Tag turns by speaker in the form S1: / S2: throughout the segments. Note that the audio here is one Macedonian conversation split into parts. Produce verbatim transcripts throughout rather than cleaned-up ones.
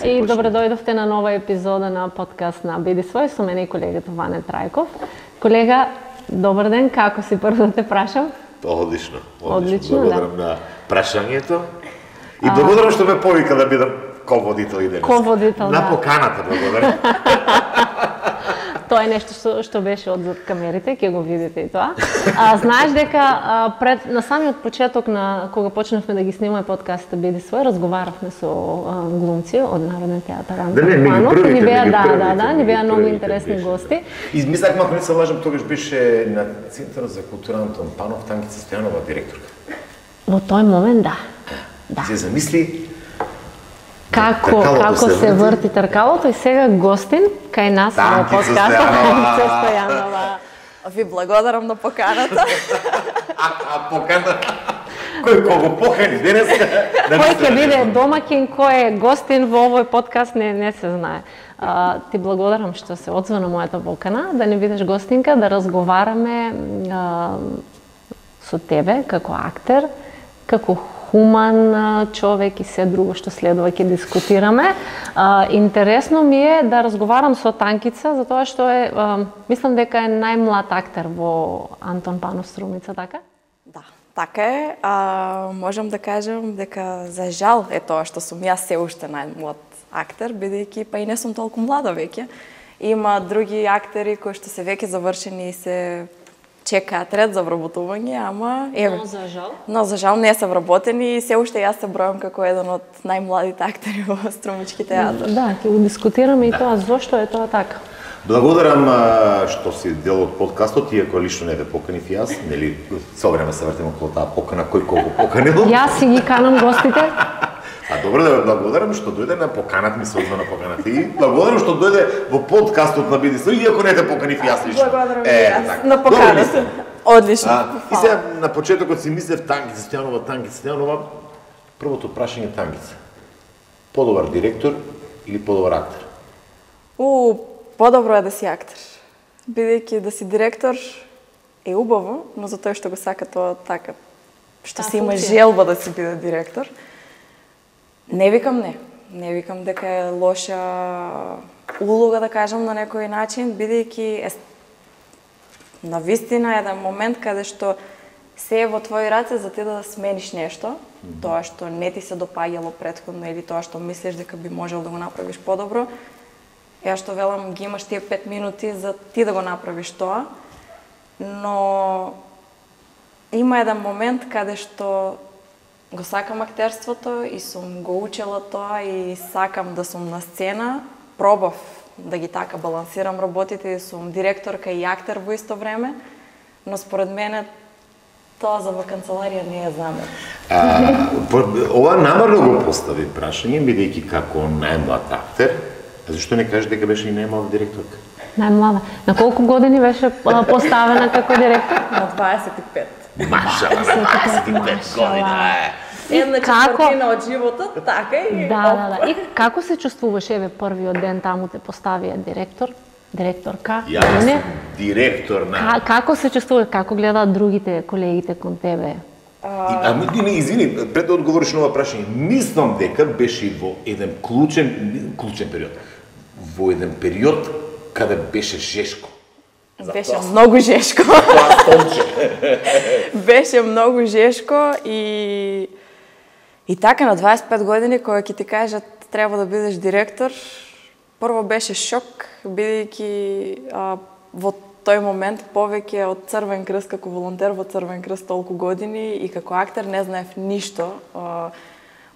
S1: и добре дојдовте на нова епизода на подкаст на Биди свој со мене и колегата Ване Трајков. Колега, добар ден, како си, прво да те прашам?
S2: Одлично, одлично.
S1: Одлично,
S2: Благодарам
S1: да.
S2: на прашањето и благодарам што ме повика да бидам ководител и денес.
S1: Ководител,
S2: на
S1: да.
S2: поканата, благодарам.
S1: Тоа е нешто што, што беше одзад камерите, ќе го видите и тоа. А, знаеш дека а, пред, на самиот почеток на кога почнавме да ги снимаме подкастите Биди свој, разговаравме со а, глумци од Народен театар Антон
S2: Да, не,
S1: Панов.
S2: првите,
S1: Ни беа, да,
S2: првите,
S1: да, да, ни беа многу
S2: првите
S1: интересни
S2: беше.
S1: гости.
S2: Измислах, ако не се лажам, тогаш беше на Центарот за култура Антон Панов, Танкица Стојанова, директорка.
S1: Во тој момент, да. Да.
S2: Се замисли
S1: Како,
S2: Тркалото
S1: како
S2: се
S1: се
S2: врти.
S1: врти тркалото и сега гостин кај нас во
S2: Танкица
S1: подкастот
S2: Стојанова.
S1: Танкица Стојанова.
S3: Ви благодарам на поканата.
S2: А, а покана... Кој кого покани денес?
S1: Кој ќе биде домаќин, кој е гостин во овој подкаст, не, не се знае. А, ти благодарам што се одзва на мојата покана, да не бидеш гостинка, да разговараме а, со тебе како актер, како хуман а, човек и се друго што следува ќе дискутираме. А, интересно ми е да разговарам со Танкица, затоа што е, а, мислам дека е најмлад актер во Антон Панов Струмица, така?
S3: Да, така е. А, можам да кажам дека за жал е тоа што сум јас се уште најмлад актер, бидејќи па и не сум толку млада веќе. Има други актери кои што се веќе завршени и се чекаат ред за вработување, ама еве.
S1: Но за жал.
S3: Но за жал не се вработени и се уште јас се бројам како еден од најмладите актери во Струмички театар.
S1: Да, ќе го дискутираме и тоа, зошто е тоа така.
S2: Благодарам а, што си дел од подкастот, иако лично не ве поканив јас, нели, со време се вртим околу таа покана, кој кого поканил.
S1: Јас си ги канам гостите.
S2: А добро да ве благодарам што дојде на поканат ми се одзва на поканата и благодарам што дојде во подкастот на Биди свој, иако не те поканив јас лично.
S3: Благодарам и
S2: Е,
S3: јас
S2: така.
S3: на поканата. Одлично.
S2: А, и сега на почетокот си мислев Танкица Стојанова, Танкица Стојанова, првото прашање Танкица. Подобар директор или подобар актер?
S3: У, подобро е да си актер. Бидејќи да си директор е убаво, но за тој што го сака тоа така, што
S1: Таа
S3: си има
S1: функција.
S3: желба да си биде директор. Не викам не. Не викам дека е лоша улога, да кажам на некој начин, бидејќи е на вистина еден момент каде што се е во твои раце за ти да смениш нешто, тоа што не ти се допаѓало претходно или тоа што мислиш дека би можел да го направиш подобро. Ја што велам, ги имаш тие пет минути за ти да го направиш тоа, но има еден момент каде што го сакам актерството и сум го учела тоа и сакам да сум на сцена. Пробав да ги така балансирам работите и сум директорка и актер во исто време, но според мене тоа за во канцеларија не е за мене.
S2: А, ова намерно го постави прашање, бидејќи како најмлад актер, а зашто не кажеш дека беше и најмлада директорка?
S1: Најмлада. На колку години беше а, поставена како директор?
S3: На дваесет и пет.
S2: Машала, на дваесет и пет година, е.
S3: Една
S1: како-
S3: четвртина од животот, така и
S1: Да, да, да. И како се чувствуваш, еве, првиот ден таму те поставија директор, директорка?
S2: Јас
S1: Не?
S2: сум директор на...
S1: Ка, како се чувствуваш, како гледаат другите колегите кон тебе?
S2: И, а ми, не, извини, пред да одговориш на ова прашање, мислам дека беше во еден клучен, клучен период, во еден период каде беше жешко.
S3: беше многу жешко.
S2: Тоа столче.
S3: Беше многу жешко и и така на дваесет и пет години кога ќе ти кажат треба да бидеш директор, прво беше шок, бидејќи а, во тој момент повеќе од Црвен крст како волонтер во Црвен крст толку години и како актер не знаев ништо а,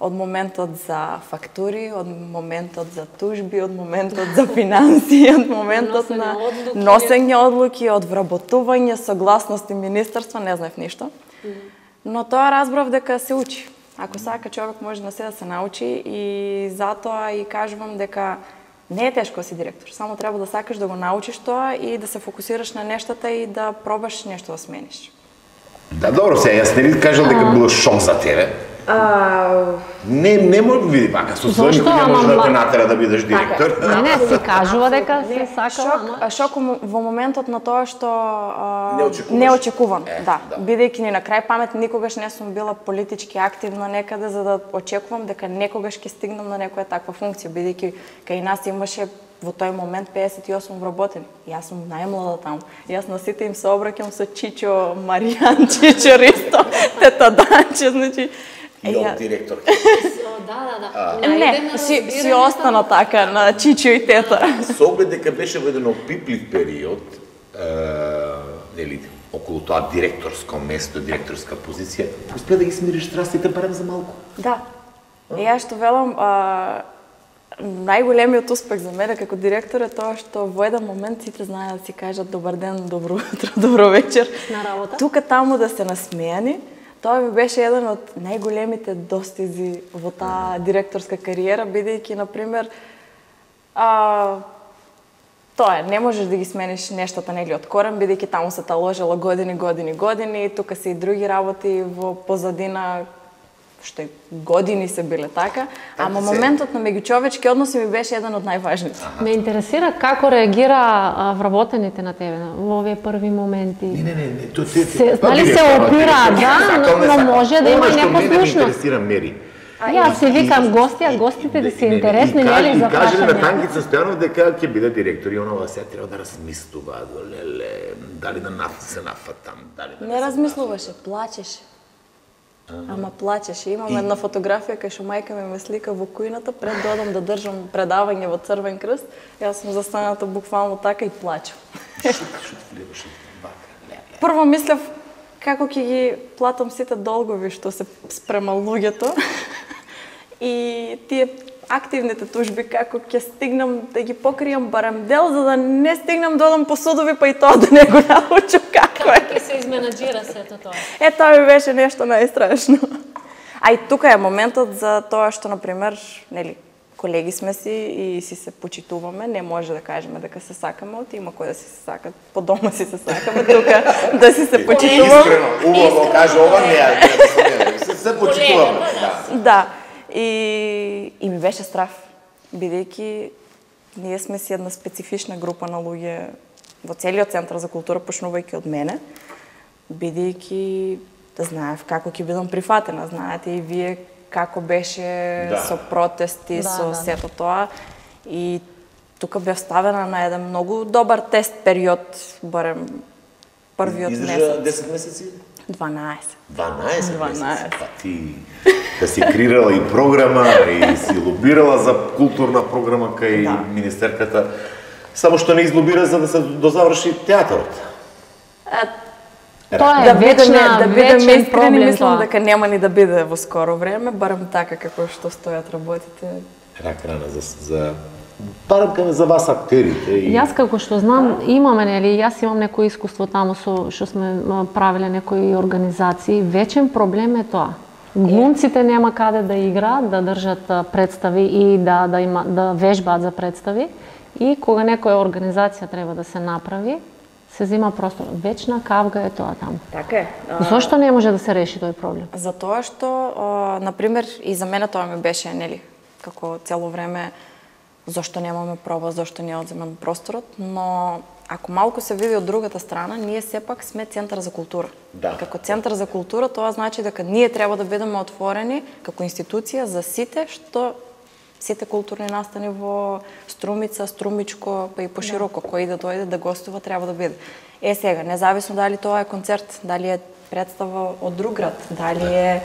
S3: од моментот за фактури, од моментот за тужби, од моментот за финансии, од моментот
S1: Носење
S3: на
S1: одлуки.
S3: носење одлуки, од вработување, согласности министерства, не знаев ништо. Но тоа разбрав дека се учи. Ако сака човек може на се да се научи и затоа и кажувам дека не е тешко да си директор, само треба да сакаш да го научиш тоа и да се фокусираш на нештата и да пробаш нешто да смениш.
S2: Да, добро, сега, јас не би кажал дека било шок за тебе.
S3: А...
S2: Не, не може види, вака со свој никој не може да те натера да бидеш директор.
S1: Не, не, си кажува дека се сакала, ама...
S3: Шок во моментот на тоа што
S2: неочекуван.
S3: неочекуван,
S2: е,
S3: да.
S2: да.
S3: Бидејќи ни на крај памет никогаш не сум била политички активна некаде за да очекувам дека некогаш ќе стигнам на некоја таква функција, бидејќи кај нас имаше во тој момент педесет и осум вработени. Јас сум најмлада таму. Јас на сите им се обраќам со Чичо, Маријан, Чичо Ристо, тета Данче, значи
S2: И од директор.
S1: Да, да, да.
S3: Не, си, си остана така на Чичо и тета.
S2: Со оглед дека беше во еден опиплив период, е, нели, околу тоа директорско место, директорска позиција, успеа да ги смириш страстите барем за малку.
S3: Да. И јас што велам, а, најголемиот успех за мене како директор е тоа што во еден момент сите знаат да си кажат добар ден, добро утро, добро вечер.
S1: На работа.
S3: Тука таму да се насмејани. Тоа ми беше еден од најголемите достизи во таа директорска кариера, бидејќи, например, а, тоа е, не можеш да ги смениш нештата нели од корен, бидејќи таму се таложело години, години, години, тука се и други работи во позадина, што и години се биле така, ама моментот на меѓучовечки односи ми беше еден од најважните.
S1: Ме интересира како реагира а, вработените на тебе во овие први моменти.
S2: Не, не, не, не, то те
S1: се, дали се опира, да, но, но може да има непослушност.
S2: Ме интересира Мери.
S1: Јас си викам гости, а гостите да се интересни нели за
S2: прашање. И каже на
S1: прашање.
S2: Тангица Стојанов дека ќе биде директор и онова се треба да размислува, леле, дали да наф се нафатам, дали да
S3: Не размислуваше, плачеше. Ама плачеше. Имам една фотографија кај што мајка ми ме слика во кујната пред да одам да држам предавање во Црвен крст. Јас сум застаната буквално така и плачам. Прво мислев како ќе ги платам сите долгови што се спрема луѓето. И тие активните тужби како ќе стигнам да ги покријам барем дел за да не стигнам да одам по судови па и тоа да не го научам како е.
S1: Како ќе се изменаџира сето тоа?
S3: Е, тоа ми беше нешто најстрашно. А и тука е моментот за тоа што, например, нели, колеги сме си и си се почитуваме, не може да кажеме дека се сакаме, оти има кој да си се сакат, по дома си се сакаме, тука да си се почитуваме.
S2: Искрено, убаво каже ова, не, се се почитуваме.
S3: Да. И, и ми беше страв, бидејќи ние сме си една специфична група на луѓе во целиот Центар за култура, почнувајќи од мене, бидејќи да знаев како ќе бидам прифатена, знаете и вие како беше да. Со протести, да, со да, сето тоа. И тука бев ставена на еден многу добар тест период, барем првиот месец.
S2: Издржа десет месеци?
S3: дванаесет.
S2: дванаесет месеци? Па ти да си креирала и програма, и си лобирала за културна програма кај да. Министерката, само што не излобира за да се дозаврши театарот.
S1: Тоа е
S3: да
S1: вечна,
S3: да бидеме
S1: вечен
S3: искрени,
S1: проблем
S3: мислам
S1: тоа.
S3: дека нема ни да биде во скоро време, барем така како што стојат работите.
S2: Рак рана за за барем за вас актерите. И...
S1: Јас како што знам, имаме нели, јас имам некој искуство таму со што сме правеле некои организации, вечен проблем е тоа. Глумците нема каде да играат, да држат представи и да да има да вежбаат за представи, и кога некоја организација треба да се направи, се зема простор. Вечна кавга е тоа таму.
S3: Така е.
S1: Зошто не може да се реши тој проблем?
S3: Затоа што, на пример, и за мене тоа ми беше, нели, како цело време, зошто немаме проба, зошто не е одземен просторот, но ако малку се види од другата страна, ние сепак сме Центар за култура.
S2: Да.
S3: Како Центар за култура, тоа значи дека ние треба да бидеме отворени како институција за сите што сите културни настани во Струмица, Струмичко, па и пошироко, да. Кој да дојде да гостува треба да биде. Е сега, независно дали тоа е концерт, дали е представа од друг град, дали е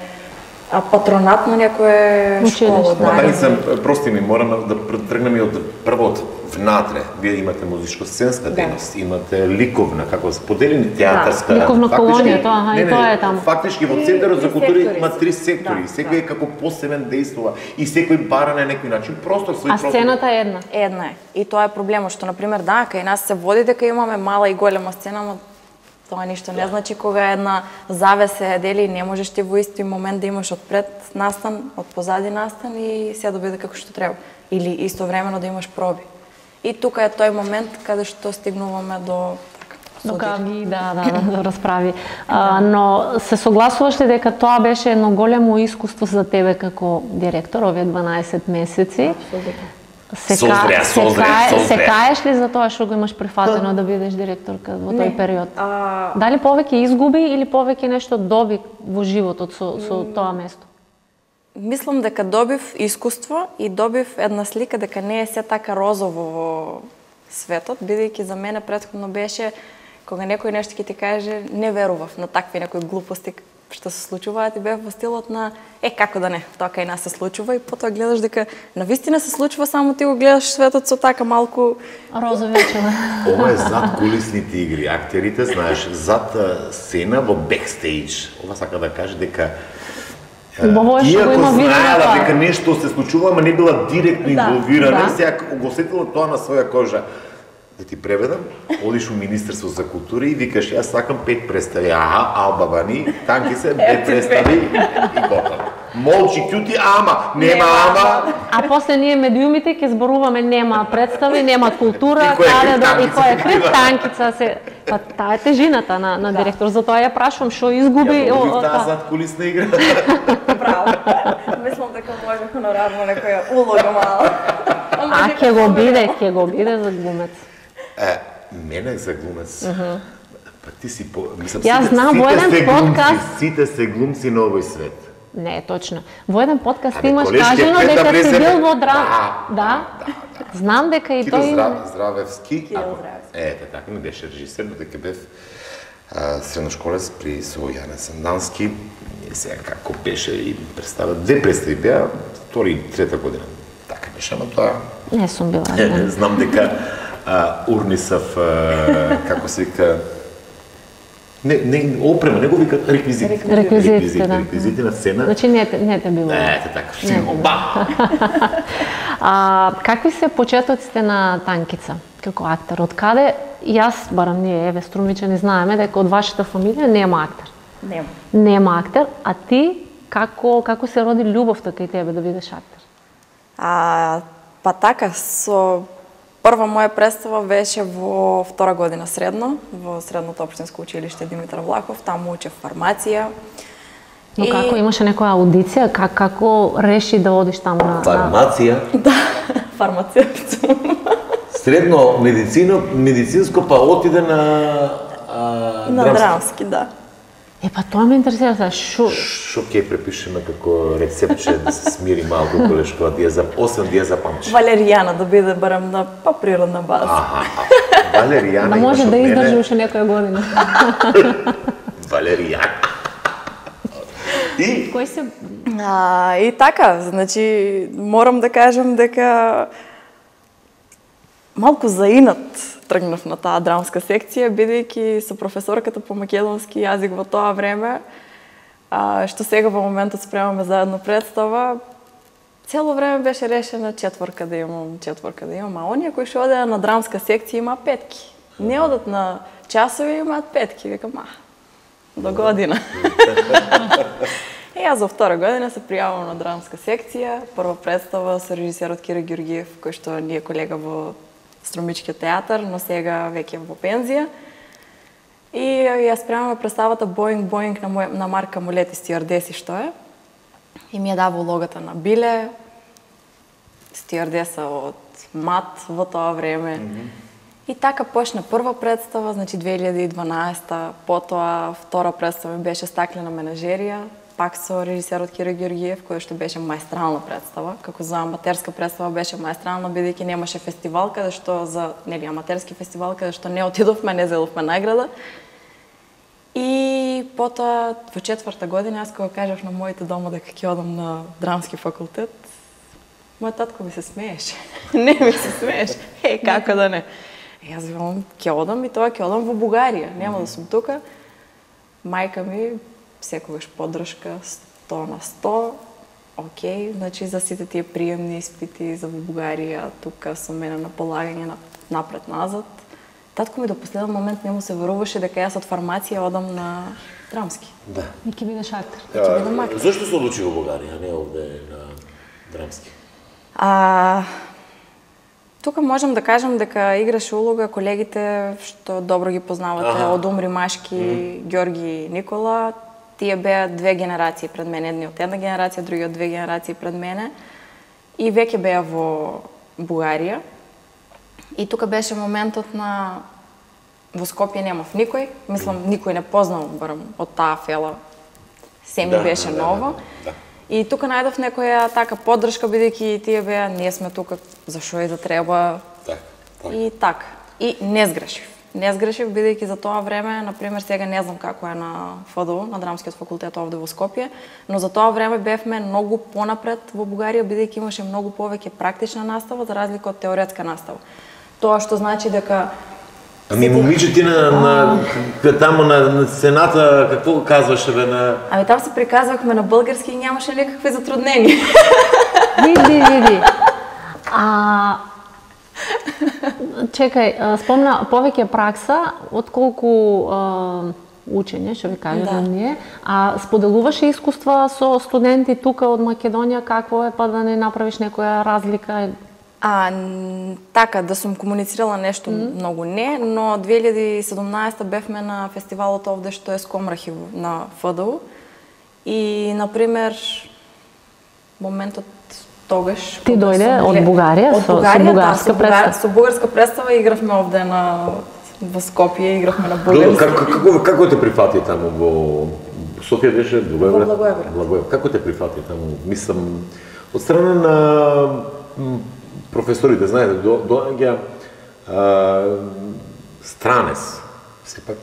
S3: а патронат на некоја школа,
S2: дали се прости ми мораме да тргнеме од првот внатре. Вие имате музичко-сценска дејност, да. Имате ликовна, како споделени театарска,
S1: да. Ликовна колонија, тоа, аха, и тоа е таму.
S2: Фактички во Центарот за култура има три сектори, да, секој е како посебен дејствува и секој бара на некој начин простор свој
S1: простор. А сцената е една.
S3: Една е. И тоа е проблемот што, на пример, да, кај нас се води дека имаме мала и голема сцена, но тоа ништо не значи кога една завеса е дели, не можеш ти во исти момент да имаш одпред настан, од позади настан и се да биде како што треба. Или истовремено да имаш проби. И тука е тој момент каде што стигнуваме до
S1: Докаги, да, да, да, расправи. А, но се согласуваш ли дека тоа беше едно големо искуство за тебе како директор овие дванаесет месеци?
S3: Апсолутно.
S1: Се,
S2: Созря,
S1: се,
S2: созря,
S1: кае,
S2: созря.
S1: се каеш ли за тоа што го имаш прифатено да бидеш директорка во тој период?
S3: А...
S1: Дали повеќе изгуби или повеќе нешто доби во животот со, со тоа место?
S3: Мислам дека добив искуство и добив една слика дека не е се така розово во светот, бидејќи за мене претходно беше кога некој нешто ќе ти каже, не верував на такви некои глупости што се случуваат и бев во стилот на е како да не, тоа кај нас се случува и потоа гледаш дека навистина се случува, само ти го гледаш светот со така малку
S1: розови очила.
S2: Ова е зад кулисните игри. Актерите, знаеш, зад сцена во бекстејдж. Ова сака да каже дека
S1: Убаво е што го има видено
S2: знаела
S1: тоа.
S2: дека нешто се случува, ама не била директно инволвирана,
S1: да.
S2: сега го сетила тоа на своја кожа. Да ти преведам, одиш у Министерство за култура и викаш, јас сакам пет представи. Аха, Алба Бани, танки се, пет представи и готово. Молчи, кјути, ама, нема ама.
S1: А после ние медиумите ќе зборуваме нема представи, нема култура,
S2: И кој е
S1: каде да и
S2: криптанкица?
S1: која е криптанкица се. Па таа е тежината на на директор, затоа ја прашувам што изгуби
S2: Ја
S1: о,
S2: добив
S1: о,
S2: таа
S1: таа.
S2: зад кулисна игра.
S3: браво. Мислам дека може хонорарно некоја улога мала.
S1: А ќе го биде, ќе го биде за глумец.
S2: Е, мене за глумец. Па ти си по... Мислам,
S1: Јас
S2: сите-
S1: знам
S2: сите
S1: во еден
S2: сте глумци,
S1: подкаст-
S2: Сите се глумци на овој свет.
S1: Не, точно. Во еден подкаст
S2: Абе,
S1: имаш
S2: колешки,
S1: кажано
S2: Петра
S1: дека си
S2: Брезев-
S1: бил во драма.
S2: Да,
S1: Да? Знам дека и
S2: Киро
S1: тој има.
S2: Здра- Здравевски.
S3: Киро
S2: ако-
S3: Здравевски.
S2: Ете, така ми беше режисер, но дека бев а, средношколец при со Јане Сандански. И сега како беше и представа, две представи беа, втори и трета година. Така беше, ама тоа...
S1: Не сум била.
S2: Е,
S1: да.
S2: знам дека а, Урнисав, а, како се вика, не, не, опрема, не го вика реквизит.
S1: Реквизитите,
S2: Реквизити,
S1: да.
S2: реквизити на сцена.
S1: Значи не те не те било.
S2: Ете така,
S1: Не.
S2: си оба.
S1: А, какви се почетоците на Танкица како актер? Од каде јас, барам ние, еве струмичани, знаеме дека од вашата фамилија нема актер.
S3: Нема.
S1: Нема актер, а ти како како се роди љубовта кај тебе да бидеш актер?
S3: А, па така, со прва моја представа беше во втора година средно, во средното општинско училиште Димитар Влахов, таму учев фармација.
S1: Но
S3: И-
S1: како имаше некоја аудиција, как како реши да одиш таму на, на...
S4: Фармација,
S3: Фармацевт сум.
S4: средно медицино, медицинско, па отиде на а,
S3: На
S4: драмски.
S3: драмски, да.
S1: Е, па тоа ме интересира, сега, шо...
S2: Шо ќе препишеме како рецептче да се смири малку колешкова да ја за освен да ја запамти.
S3: Валеријана да биде барем на по-природна база.
S2: Аха, Валеријана
S1: Да може
S2: имаш
S1: да
S2: од мене.
S1: издржи уште некоја година.
S2: Валеријана. И
S1: Кој се...
S3: А, и така, значи, морам да кажам дека малку заинат тргнав на таа драмска секција, бидејќи со професорката по македонски јазик во тоа време, а, што сега во моментот спремаме заедно представа, цело време беше решена четворка да имам, четворка да имам, а оние кои што одеа на драмска секција има петки. Не одат на часови, имаат петки. Викам, а, до година. И јас за втора година се пријавам на драмска секција, прва представа со режисерот Киро Ѓурѓиев, кој што ни е колега во Струмичкиот театар, но сега веќе во пензија. И ја спремаме представата Боинг Боинг на, мој, на Марка Молети стиардеси што е. И ми ја дава улогата на Биле, стиардеса од МАТ во тоа време. Mm -hmm. И така почна прва представа, значи две илјади и дванаесета, потоа втора представа беше Стаклена менажерија, пак со режисерот Киро Ѓурѓиев, кој што беше маестрална представа, како за аматерска представа беше маестрална, бидејќи немаше фестивал каде што за, нели, аматерски фестивал каде што не отидовме, не зедовме награда. И потоа во четврта година, јас кога кажав на моите дома дека ќе одам на драмски факултет, мојот татко ми се смееше. Не ми се смееше. Е, како да не. И јас викам, ќе одам и тоа ќе одам во Бугарија, нема да сум тука. Мајка ми секогаш поддршка сто на сто. Океј, значи за сите тие приемни испити за во Бугарија, тука со мене на полагање напред-назад. Татко ми до последен момент не му се веруваше дека јас од фармација одам на драмски.
S4: Да.
S1: И ќе бидеш актер.
S3: Ќе бидам актер.
S4: Зошто се одлучи во Бугарија, а не овде на драмски?
S3: А, Тука можам да кажам дека играше улога колегите што добро ги познавате, ага. од Умри Машки, mm. Ѓорги и Никола. Тие беа две генерации пред мене, едни од една генерација, други од две генерации пред мене. И веќе беа во Бугарија. И тука беше моментот на во Скопје немав никој, мислам никој не познал барем од таа фела. Се ми да, беше да, ново. Да, да. И тука најдов некоја така поддршка, бидејќи тие беа, ние сме тука, зашо и да треба.
S2: Так, так.
S3: И така. И не сгрешив. Не сгрешив, бидејќи за тоа време, например, сега не знам како е на ФДУ, на Драмскиот факултет овде во Скопје, но за тоа време бевме многу понапред во Бугарија, бидејќи имаше многу повеќе практична настава за разлика од теоретска настава. Тоа што значи дека
S4: Ами момиче ти на, на, на таму на, на сцената, какво казваше бе на...
S3: Ами там се приказвахме на български и нямаше никакви затруднения.
S1: Види, види. А... Чекај, спомна повеќе пракса, отколку а, учење, што ви кажеме
S3: да.
S1: ние. А споделуваше искуства со студенти тука од Македонија, какво е, па да не направиш некоја разлика?
S3: А, така, да сум комуницирала нешто mm. многу не, но две илјади и седумнаесета бевме на фестивалот овде што е Скомрахи на ФДУ и, например, моментот тогаш...
S1: Ти дојде од Бугарија,
S3: од
S1: со,
S3: Бугарија,
S1: со бугарска
S3: да,
S1: представа?
S3: Со бугарска представа игравме овде на во Скопје, игравме на бугарски.
S4: Како, како, како те прифати таму во Софија беше Благоевград?
S3: Во Благоевград.
S4: Благоевград. Како те прифати таму? Мислам, од страна на професорите, знаете, до, доаѓа странец. Сепак,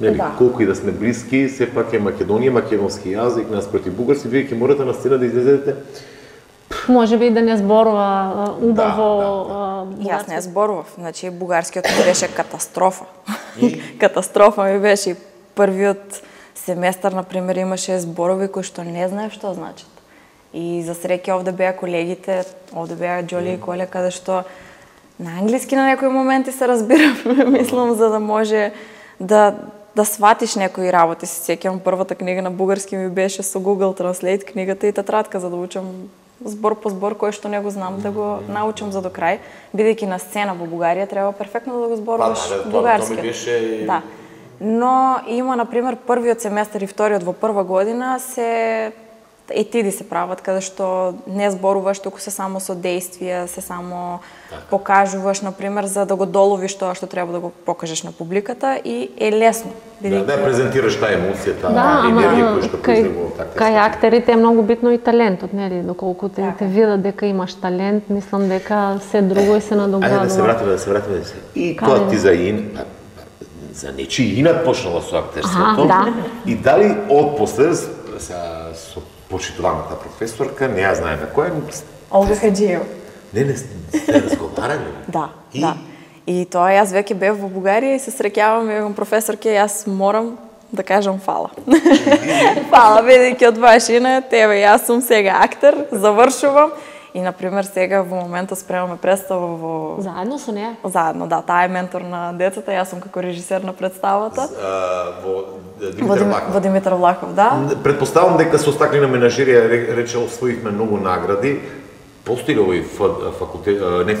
S4: нели, да. Колку и да сме блиски, сепак е Македонија, македонски јазик, наспроти бугарски, вие ќе морате на сцена да излезете.
S1: Може би да не зборува убаво
S3: да, да. Јас не зборував, значи бугарскиот ми беше катастрофа. Катастрофа ми беше. Првиот семестар, например, имаше зборови кои што не знаев што значат. И за среќа овде беа колегите, овде беа Џоли и Коля, каде што на англиски на некои моменти се разбираме, мислам, за да може да да сватиш некои работи. Се сеќавам првата книга на бугарски ми беше со Google Translate книгата и тетрадка за да учам збор по збор кој што не го знам да го научам за до крај, бидејќи на сцена во Бугарија треба перфектно да го зборуваш
S2: па, да,
S3: бугарски.
S2: Тоа ми беше...
S3: Да. Но има, например, првиот семестар и вториот во прва година се етиди се прават, каде што не зборуваш, туку се само со действија, се само так. Покажуваш, например, за да го доловиш тоа што треба да го покажеш на публиката и е лесно.
S4: Да, да презентираш таа емоција, таа
S1: да,
S4: енергија која што
S1: кај,
S4: произлегува.
S1: кај актерите е многу битно и талентот, нели? Доколку те, те видат дека имаш талент, мислам дека се друго и се надоградува.
S2: Ајде да се вратиме, да се вратиме. И тоа ти за ин... за нечи инат почнала со актерството.
S1: Да.
S2: И дали отпосле со почитуваната професорка, не ја знае на која...
S3: Олга Хаджиева.
S2: Не, не, сте разговарали?
S3: Да,
S2: и?
S3: да. И тоа јас веќе бев во Бугарија и се среќавам и професорке, јас морам да кажам фала. Фала, бидејќи од ваше име, тебе, јас сум сега актер, завршувам. И, например, сега во моментот спремаме представа во...
S1: Заедно со неа?
S3: Заедно, да. Таа е ментор на децата, јас сум како режисер на представата.
S2: А, во Димитар Влахов.
S3: Во Димитар Влахов, да.
S2: Предпоставам дека со стаклена менажерија рече освоивме многу награди. Постои ли овој факултет... Не,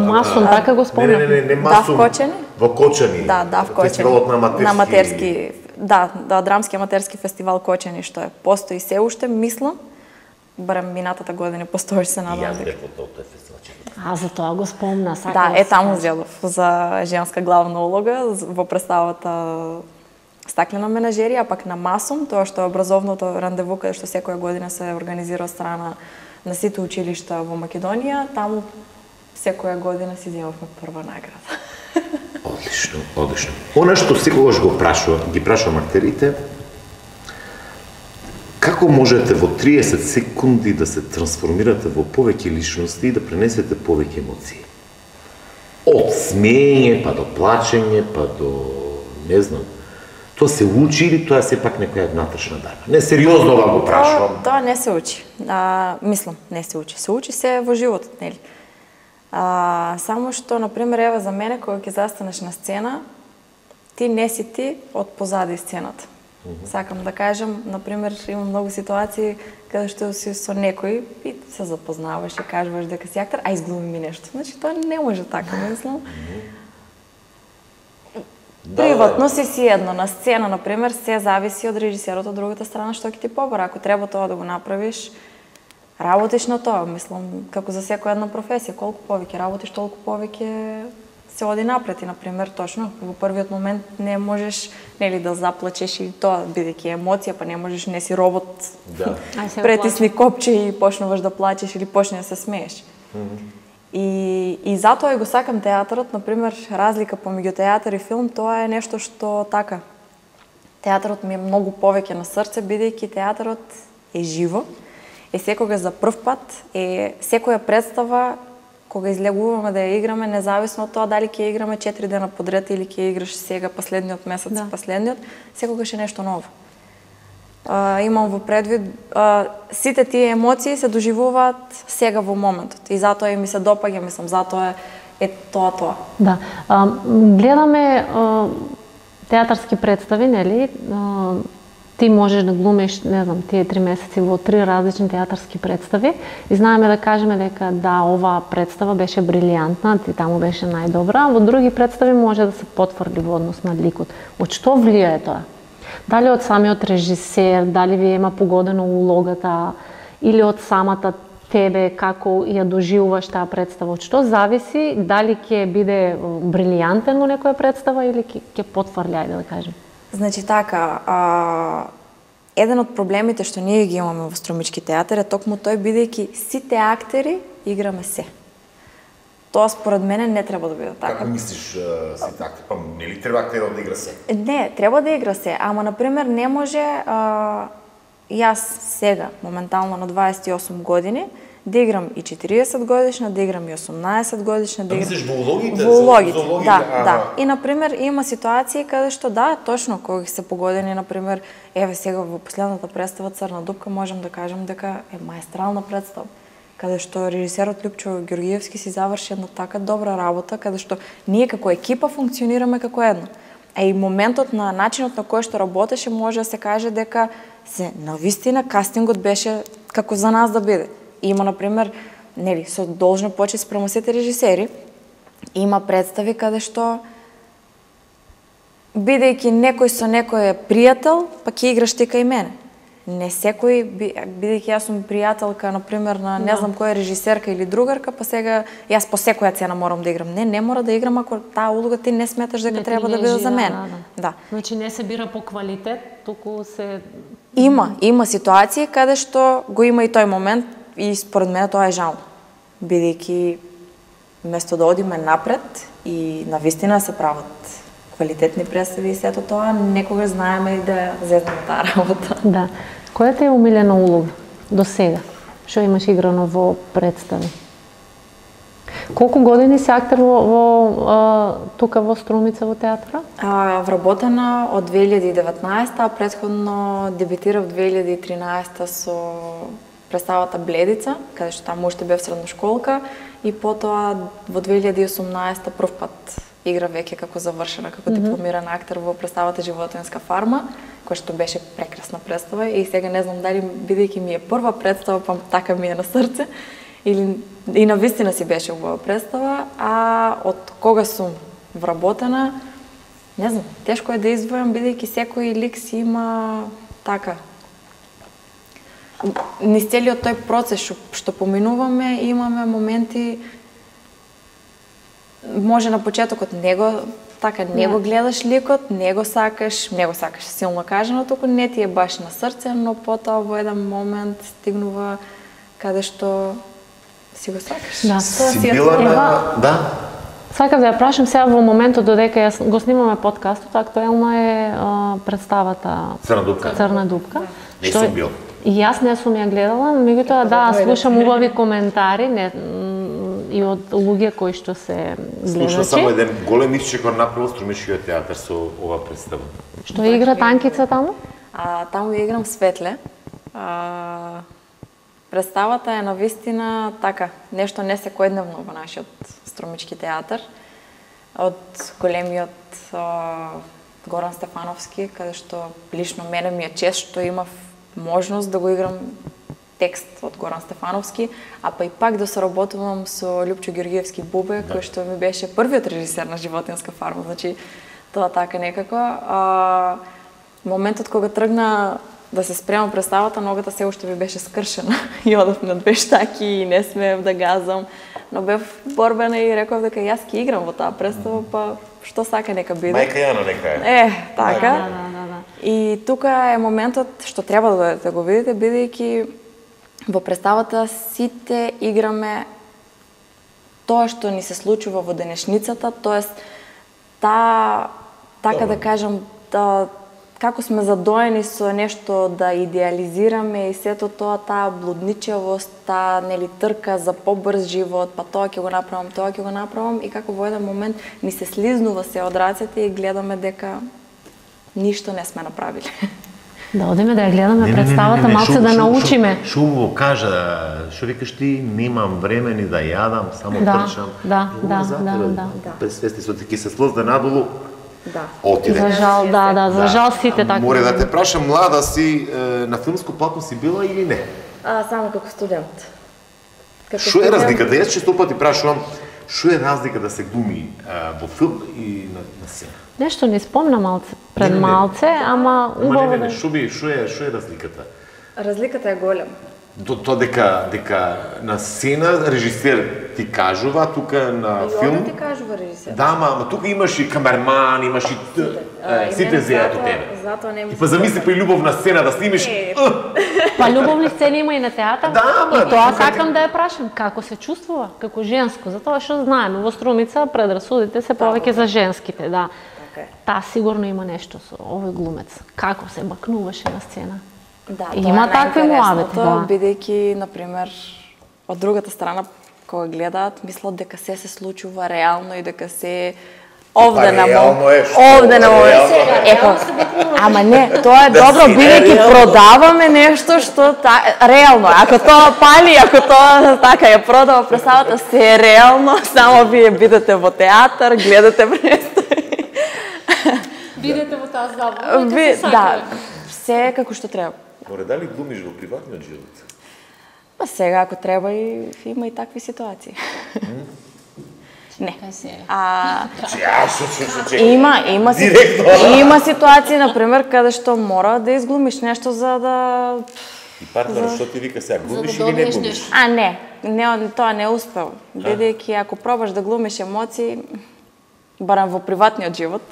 S1: Масум, така го спомнам.
S2: Не, не, не, не Масум.
S3: Да, в Кочани?
S2: Во Кочани.
S3: Да, да, в Кочани.
S2: Фестивалот на аматерски...
S3: На аматерски... Да, да, драмски аматерски фестивал Кочани, што е постои се уште, мислам. Барем минатата година постоиш се надам.
S2: Јас бев од тој фестивал.
S1: А, за тоа го спомна, сакам.
S3: Да, е таму зедов за женска главна улога во представата Стаклена менажерија, а пак на Масум, тоа што е образовното рандеву каде што секоја година се организира од страна на сите училишта во Македонија, таму секоја година си земавме прва награда.
S2: Одлично, одлично. Она што секогаш го прашувам, ги прашувам актерите, како можете во триесет секунди да се трансформирате во повеќе личности и да пренесете повеќе емоции? Од смеење, па до плачење, па до... не знам. Тоа се учи или тоа е сепак некоја внатрешна дарба? Не, сериозно вам го прашувам.
S3: Тоа, тоа не се учи. А, мислам, не се учи. Се учи се во животот, нели? А, само што, например, ева за мене, кога ќе застанеш на сцена, ти не си ти од позади сцената. Mm-hmm. Сакам да кажам, например, има многу ситуации каде што си со некој и се запознаваш и кажуваш дека си актер, а изглуми ми нешто. Значи тоа не може така, мислам. Mm-hmm. Приватно си си едно, на сцена, например, се зависи од режисерот од другата страна што ќе ти побара. Ако треба тоа да го направиш, работиш на тоа, мислам, како за секоја една професија, колку повеќе работиш, толку повеќе се оди напред и, например, точно, во првиот момент не можеш, нели, да заплачеш и тоа, бидејќи емоција, па не можеш, не си робот,
S2: да.
S3: Претисни копче и почнуваш да плачеш или почне да се смееш.
S2: Mm-hmm.
S3: И, и затоа и го сакам театарот, например, разлика помеѓу театар и филм, тоа е нешто што така. Театарот ми е многу повеќе на срце, бидејќи театарот е живо, е секогаш за прв пат, е секоја представа кога излегуваме да ја играме, независно од тоа дали ќе ја играме четири дена подред или ќе ја играш сега последниот месец, да. Последниот, секогаш е нешто ново. А, имам во предвид, а, сите тие емоции се доживуваат сега во моментот и затоа и ми се допаѓа, мислам, затоа е, е тоа тоа.
S1: Да, а, гледаме а, театарски представи, нели? А, ти можеш да глумиш, не знам, тие три месеци во три различни театарски представи и знаеме да кажеме дека да, оваа представа беше брилијантна, ти таму беше најдобра, а во други представи може да се потврди во однос на ликот. Од што влијае тоа? Дали од самиот режисер, дали ви има погодено улогата или од самата тебе како ја доживуваш таа представа? Од што зависи дали ќе биде брилијантен во некоја представа или ќе, ќе потврли, ајде да кажем?
S3: Значи така, а, еден од проблемите што ние ги имаме во Струмички театар е токму тој, бидејќи сите актери играме се. Тоа според мене не треба да биде така.
S2: Како мислиш сите актери? Па нели треба актерот да игра се?
S3: Не, треба да игра се, ама например не може а, јас сега моментално на дваесет и осум години да играм и четириесет годишна, да играм и осумнаесет годишна, да играм...
S2: Мислиш во улогите?
S3: Во улогите,
S2: за, за
S3: да, ага. Да. И, например, има ситуации каде што, да, точно, кога се погодени, например, еве сега во последната представа Црна дупка, можем да кажем дека е маестрална представа, каде што режисерот Љупчо Ѓоргиевски си заврши една така добра работа, каде што ние како екипа функционираме како едно. А и моментот на начинот на кој што работеше, може да се каже дека се навистина кастингот беше како за нас да биде. Има, например, нели, со должна почит спрема сите режисери, има представи каде што бидејќи некој со некој е пријател, па ќе играш ти кај мене. Не секој, бидејќи јас сум пријателка, например, на не знам која режисерка или другарка, па сега јас по секоја цена морам да играм. Не, не мора да играм ако таа улога ти не сметаш дека не треба да биде за мене. Да, да. Да.
S1: Значи не се бира по квалитет, туку се...
S3: Има, има ситуации каде што го има и тој момент и според мене тоа е жално. Бидејќи место да одиме напред и навистина се прават квалитетни представи и сето тоа, некогаш знаеме и да зезнеме таа работа.
S1: Да. Која ти е умилена улога до сега? Што имаш играно во представи? Колку години си актер во, во а, тука во Струмица во театра?
S3: А, вработена од две илјади и деветнаесета, а претходно дебитирав две илјади и тринаесета со представата Бледица, каде што таму уште бев средношколка, и потоа во две илјади и осумнаесета прв пат игра веќе како завршена, како дипломиран актер во представата Животинска фарма, која што беше прекрасна представа и сега не знам дали бидејќи ми е прва представа, па така ми е на срце, или и навистина си беше убава представа, а од кога сум вработена, не знам, тешко е да издвојам бидејќи секој лик си има така. Низ целиот тој процес што, што поминуваме, имаме моменти, може на почетокот него така не го гледаш ликот, не го сакаш, не го сакаш силно кажано, туку не ти е баш на срце, но потоа во еден момент стигнува каде што си го сакаш.
S1: Да,
S2: си била на... Да.
S1: Сакав да ја прашам сега во моментот додека јас го снимаме подкастот, актуелна е а, представата
S2: Црна дупка.
S1: Црна дупка.
S2: Не сум бил.
S1: И јас не сум ја гледала, меѓутоа да, слушам убави коментари, не, и од луѓе кои што се гледачи.
S2: Слушам само еден голем исчекор направил Струмичкиот театар со ова представа.
S1: Што игра Танкица таму?
S3: А, таму играм Светле. А, представата е навистина така, нешто не секојдневно во нашиот Струмички театар. Од големиот а, Горан Стефановски, каде што лично мене ми е чест што имав можност да го играм текст од Горан Стефановски, а па и пак да соработувам со Љупчо Георгиевски Бубе, да. Кој што ми беше првиот режисер на Животинска фарма, значи тоа така некако. А, моментот кога тргна да се спремам представата, ногата се уште ми беше скршена и одев на две штаки и не смеев да газам, но бев борбена и реков дека јас ќе играм во таа представа, па што сака нека биде.
S2: Мајка Јана нека е.
S3: Е, така.
S1: Да, да, да, да.
S3: И тука е моментот што треба да дојдете да го видите, бидејќи во представата сите играме тоа што ни се случува во денешницата, тоест та, така да кажам, да, како сме задоени со нешто да идеализираме и сето тоа, таа блудничевост, таа нели трка за побрз живот, па тоа ќе го направам, тоа ќе го направам и како во еден момент ни се слизнува се од рацете и гледаме дека ништо не сме направиле.
S1: Да одиме да ја гледаме представата, малце да научиме.
S2: Шо му кажа, шо викаш ти, немам време ни да јадам, само
S1: да,
S2: трчам.
S1: Да, да, да, да, да.
S2: Пресвести со ти се слозде надолу.
S3: Да.
S2: Отиде.
S1: За жал, да, да, за жал сите така.
S2: Море да те прашам, млада си, на филмско платно си била или не?
S3: А, само како студент.
S2: Шо е разликата? Јас често пати прашувам, шо е разлика да се глуми во филм и на, на сцена?
S1: Нешто не спомна малце, пред
S2: не, не, не.
S1: малце, ама убаво
S2: не, не, не,
S1: да...
S2: шо, би, шо, е, шо е разликата?
S3: Разликата е голема.
S2: Тоа то дека, дека на сцена режисер ти кажува, тука на
S3: и
S2: филм...
S3: ти кажува режисер.
S2: Да, ама, ама тука имаш и камерман, имаш и...
S3: Сите,
S2: сите зеат од тебе.
S3: Затоа не ми
S2: И па замисли па и љубовна сцена да снимиш...
S1: Па љубовни сцени има и на театар.
S2: Да, ама,
S1: и тоа
S2: тука
S1: сакам да ја прашам, како се чувствува, како женско, затоа што знаеме, во Струмица предрасудите се повеќе за женските, да.
S3: Okay.
S1: Таа сигурно има нешто со овој глумец. Како се бакнуваше на сцена?
S3: Да,
S1: има такви муабети, да.
S3: Бидејќи, например, од другата страна, кога гледаат, мислат дека се се случува реално и дека се овде на
S2: реално е, што?
S3: овде на Епа, ама не, тоа е добро, бидејќи продаваме нешто што та, реално. Ако тоа пали, ако тоа така ја продава представата, се е реално, само вие бидете во театар, гледате представи.
S1: Бидете во таа забава,
S3: Ви, да, се како што треба.
S2: Море, дали глумиш во приватниот живот?
S3: Па сега, ако треба, и има и такви ситуации. Не. А, има, има, има ситуации, например, каде што мора да изглумиш нешто за да...
S2: И партнерот што ти вика сега, глумиш или не глумиш?
S3: А, не, не, тоа не успел. Бидејќи ако пробаш да глумиш емоции, барем во приватниот живот,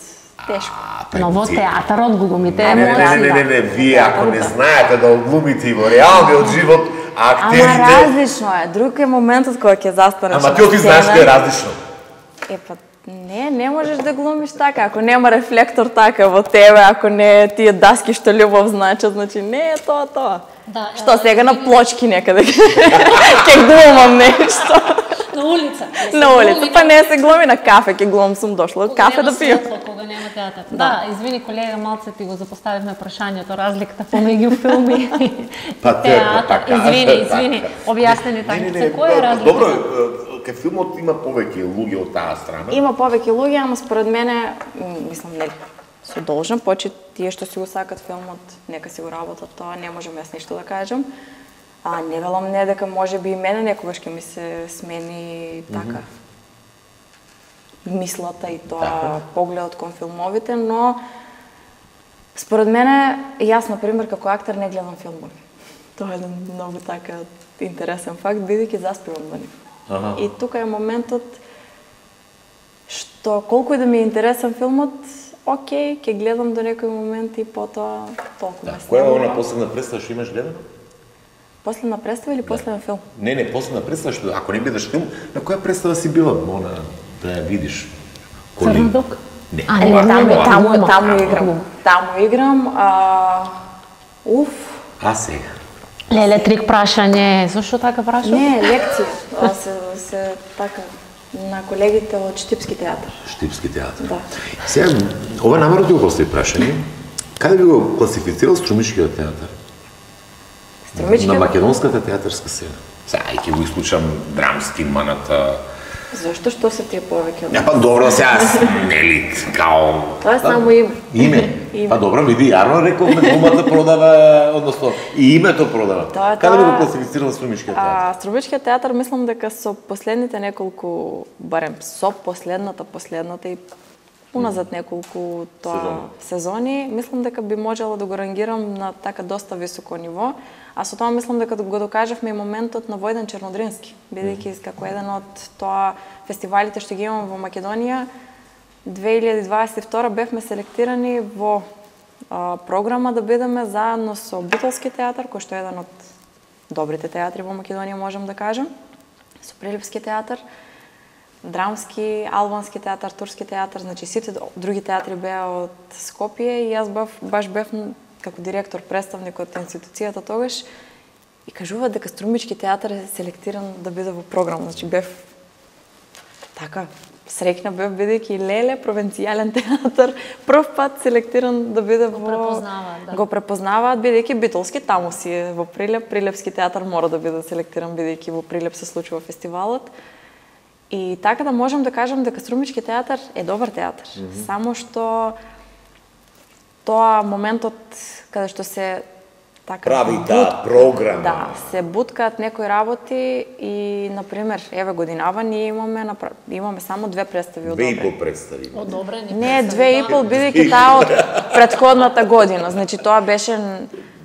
S3: тешко.
S1: Но во театарот глумите
S2: емоции. Не, не, не, не, вие ако не знаете да глумите и во реалниот живот, актерите...
S3: Ама различно е, друг е моментот кога ќе застанеш.
S2: Ама ти ти знаеш дека е различно.
S3: Епа, не, не можеш да глумиш така, ако нема рефлектор така во тебе, ако не тие даски што љубов значат, значи не е тоа тоа.
S1: Да,
S3: што сега на плочки некаде ќе глумам нешто.
S1: На улица.
S3: На улица, па не се глуми на кафе, ќе глумам сум дошла од кафе да пијам.
S1: Кога нема театар. Да, извини колега, малце ти го запоставивме прашањето, разликата помеѓу филми и театар. Извини, извини, објасни ни така. Која е разликата?
S2: Добро, кај филмот има повеќе луѓе од таа страна.
S3: Има повеќе луѓе, ама според мене, мислам, нели, со должен почит, тие што си го сакат филмот, нека си го работат тоа, не можам јас ништо да кажам. А не велам не дека може би и мене некогаш ќе ми се смени така мислата и тоа погледот кон филмовите, но според мене, јас, например, како актер не гледам филмови. Тоа е еден многу така интересен факт, бидејќи заспивам на нив. Ага. И тука е моментот што колку и да ми е интересен филмот, окей, ќе гледам до некој момент и потоа толку
S2: да, која е она последна представа што имаш гледано?
S3: Последна представа или последен филм?
S2: Не, не, последна представа што ако не гледаш филм, на која представа си била? Она да ја видиш.
S1: Црна дук?
S2: Не.
S3: А, не, таму, таму, таму играм. Таму играм, а... Уф.
S2: А сега?
S1: Леле, трик прашање, зашто така прашав?
S3: Не, лекција. се, се така, на колегите од Штипски театар.
S2: Штипски театар.
S3: Да.
S2: Сега, ова намерно ти го постави прашање. Каде би го класифицирал Струмишкиот театар?
S3: Струмишкиот?
S2: На македонската театарска сцена. Сега, ќе го исклучам драмски, маната,
S3: Зошто што се тие повеќе?
S2: Ja, па добро, сега нели, као...
S3: Тоа е само име.
S2: Име? Па добро, види, јарно рековме, думата продава, односно, и името продава.
S3: Тоа,
S2: Каде
S3: тоа...
S2: би го класифицирала Струмичкиот театар?
S3: А, Струмичкиот театар, мислам дека со последните неколку, барем со последната, последната и уназад неколку тоа сезони. сезони, мислам дека би можела да го рангирам на така доста високо ниво, а со тоа мислам дека го докажавме и моментот на Војдан Чернодрински, бидејќи mm. како еден од тоа фестивалите што ги имаме во Македонија, две илјади дваесет и втора бевме селектирани во а, програма да бидеме заедно со Битолски театар, кој што е еден од добрите театри во Македонија, можам да кажам, со Прилепски театар, Драмски, Албански театар, Турски театар, значи сите други театри беа од Скопје и јас бав, баш бев како директор, представник од институцијата тогаш и кажуваат дека Струмички театар е селектиран да биде во програма. Значи бев така среќна бев бидејќи леле провинцијален театар прв пат селектиран да биде во
S1: го препознаваат, да.
S3: Го препознаваат бидејќи Битолски таму си е во Прилеп, Прилепски театар мора да биде селектиран бидејќи во Прилеп се случува фестивалот. И така да можам да кажам дека Струмички театар е добар театар. Mm-hmm. Само што тоа моментот каде што се така
S2: прави таа програма.
S3: Да, се буткаат некои работи и на пример, еве годинава ние имаме напра... имаме само две представи одобрени.
S2: Две и пол представи.
S1: Одобрени.
S3: Не, две и пол бидејќи таа од претходната година. Значи тоа беше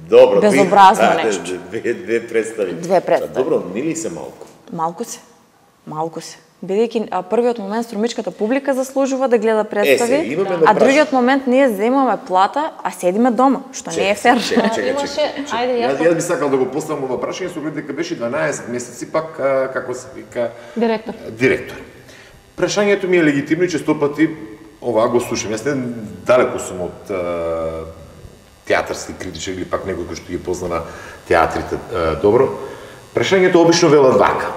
S2: Добро,
S3: безобразно
S2: две,
S3: нешто.
S2: Две, две представи.
S3: Две представи.
S2: Добро, нели се малку?
S3: Малку се. Малку се. Бидејќи првиот момент Струмичката публика заслужува да гледа представи,
S2: е, се,
S3: а другиот момент ние земаме плата, а седиме дома, што не е фер.
S2: Чека, чека,
S1: Имаше,
S2: чека.
S1: ајде јас.
S2: Јас, јас би сакал да го поставам ова прашање со оглед дека беше дванаесет месеци пак а, како се вика
S1: Директор.
S2: Директор. Прашањето ми е легитимно и често пати ова го слушам. Јас не далеку сум од а, театарски критичар или пак некој кој што ги познава театрите а, добро. Прашањето обично велат вака.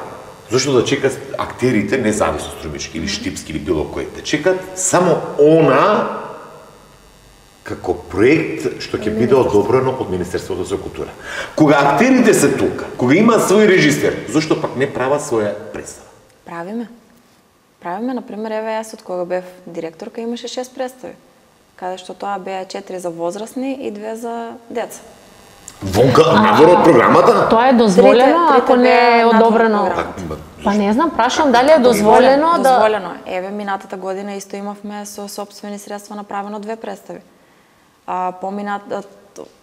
S2: Зошто да чекат актерите, независно Струмички или Штипски или било кој, да чекат само она како проект што ќе биде одобрено од Министерството за култура. Кога актерите се тука, кога имаат свој режисер, зошто пак не прават своја представа?
S3: Правиме. Правиме, например, еве јас од кога бев директорка имаше шест представи, каде што тоа беа четири за возрастни и две за деца.
S2: Вонка, надвор од програмата?
S1: Тоа е дозволено,
S3: Трите-
S1: ако
S3: трите
S1: не е
S3: беа надвор
S1: одобрено.
S3: програма.
S1: Па не знам, прашам дали е дозволено да...
S3: Дозволено. Еве, минатата година исто имавме со сопствени средства направено две представи. А поминат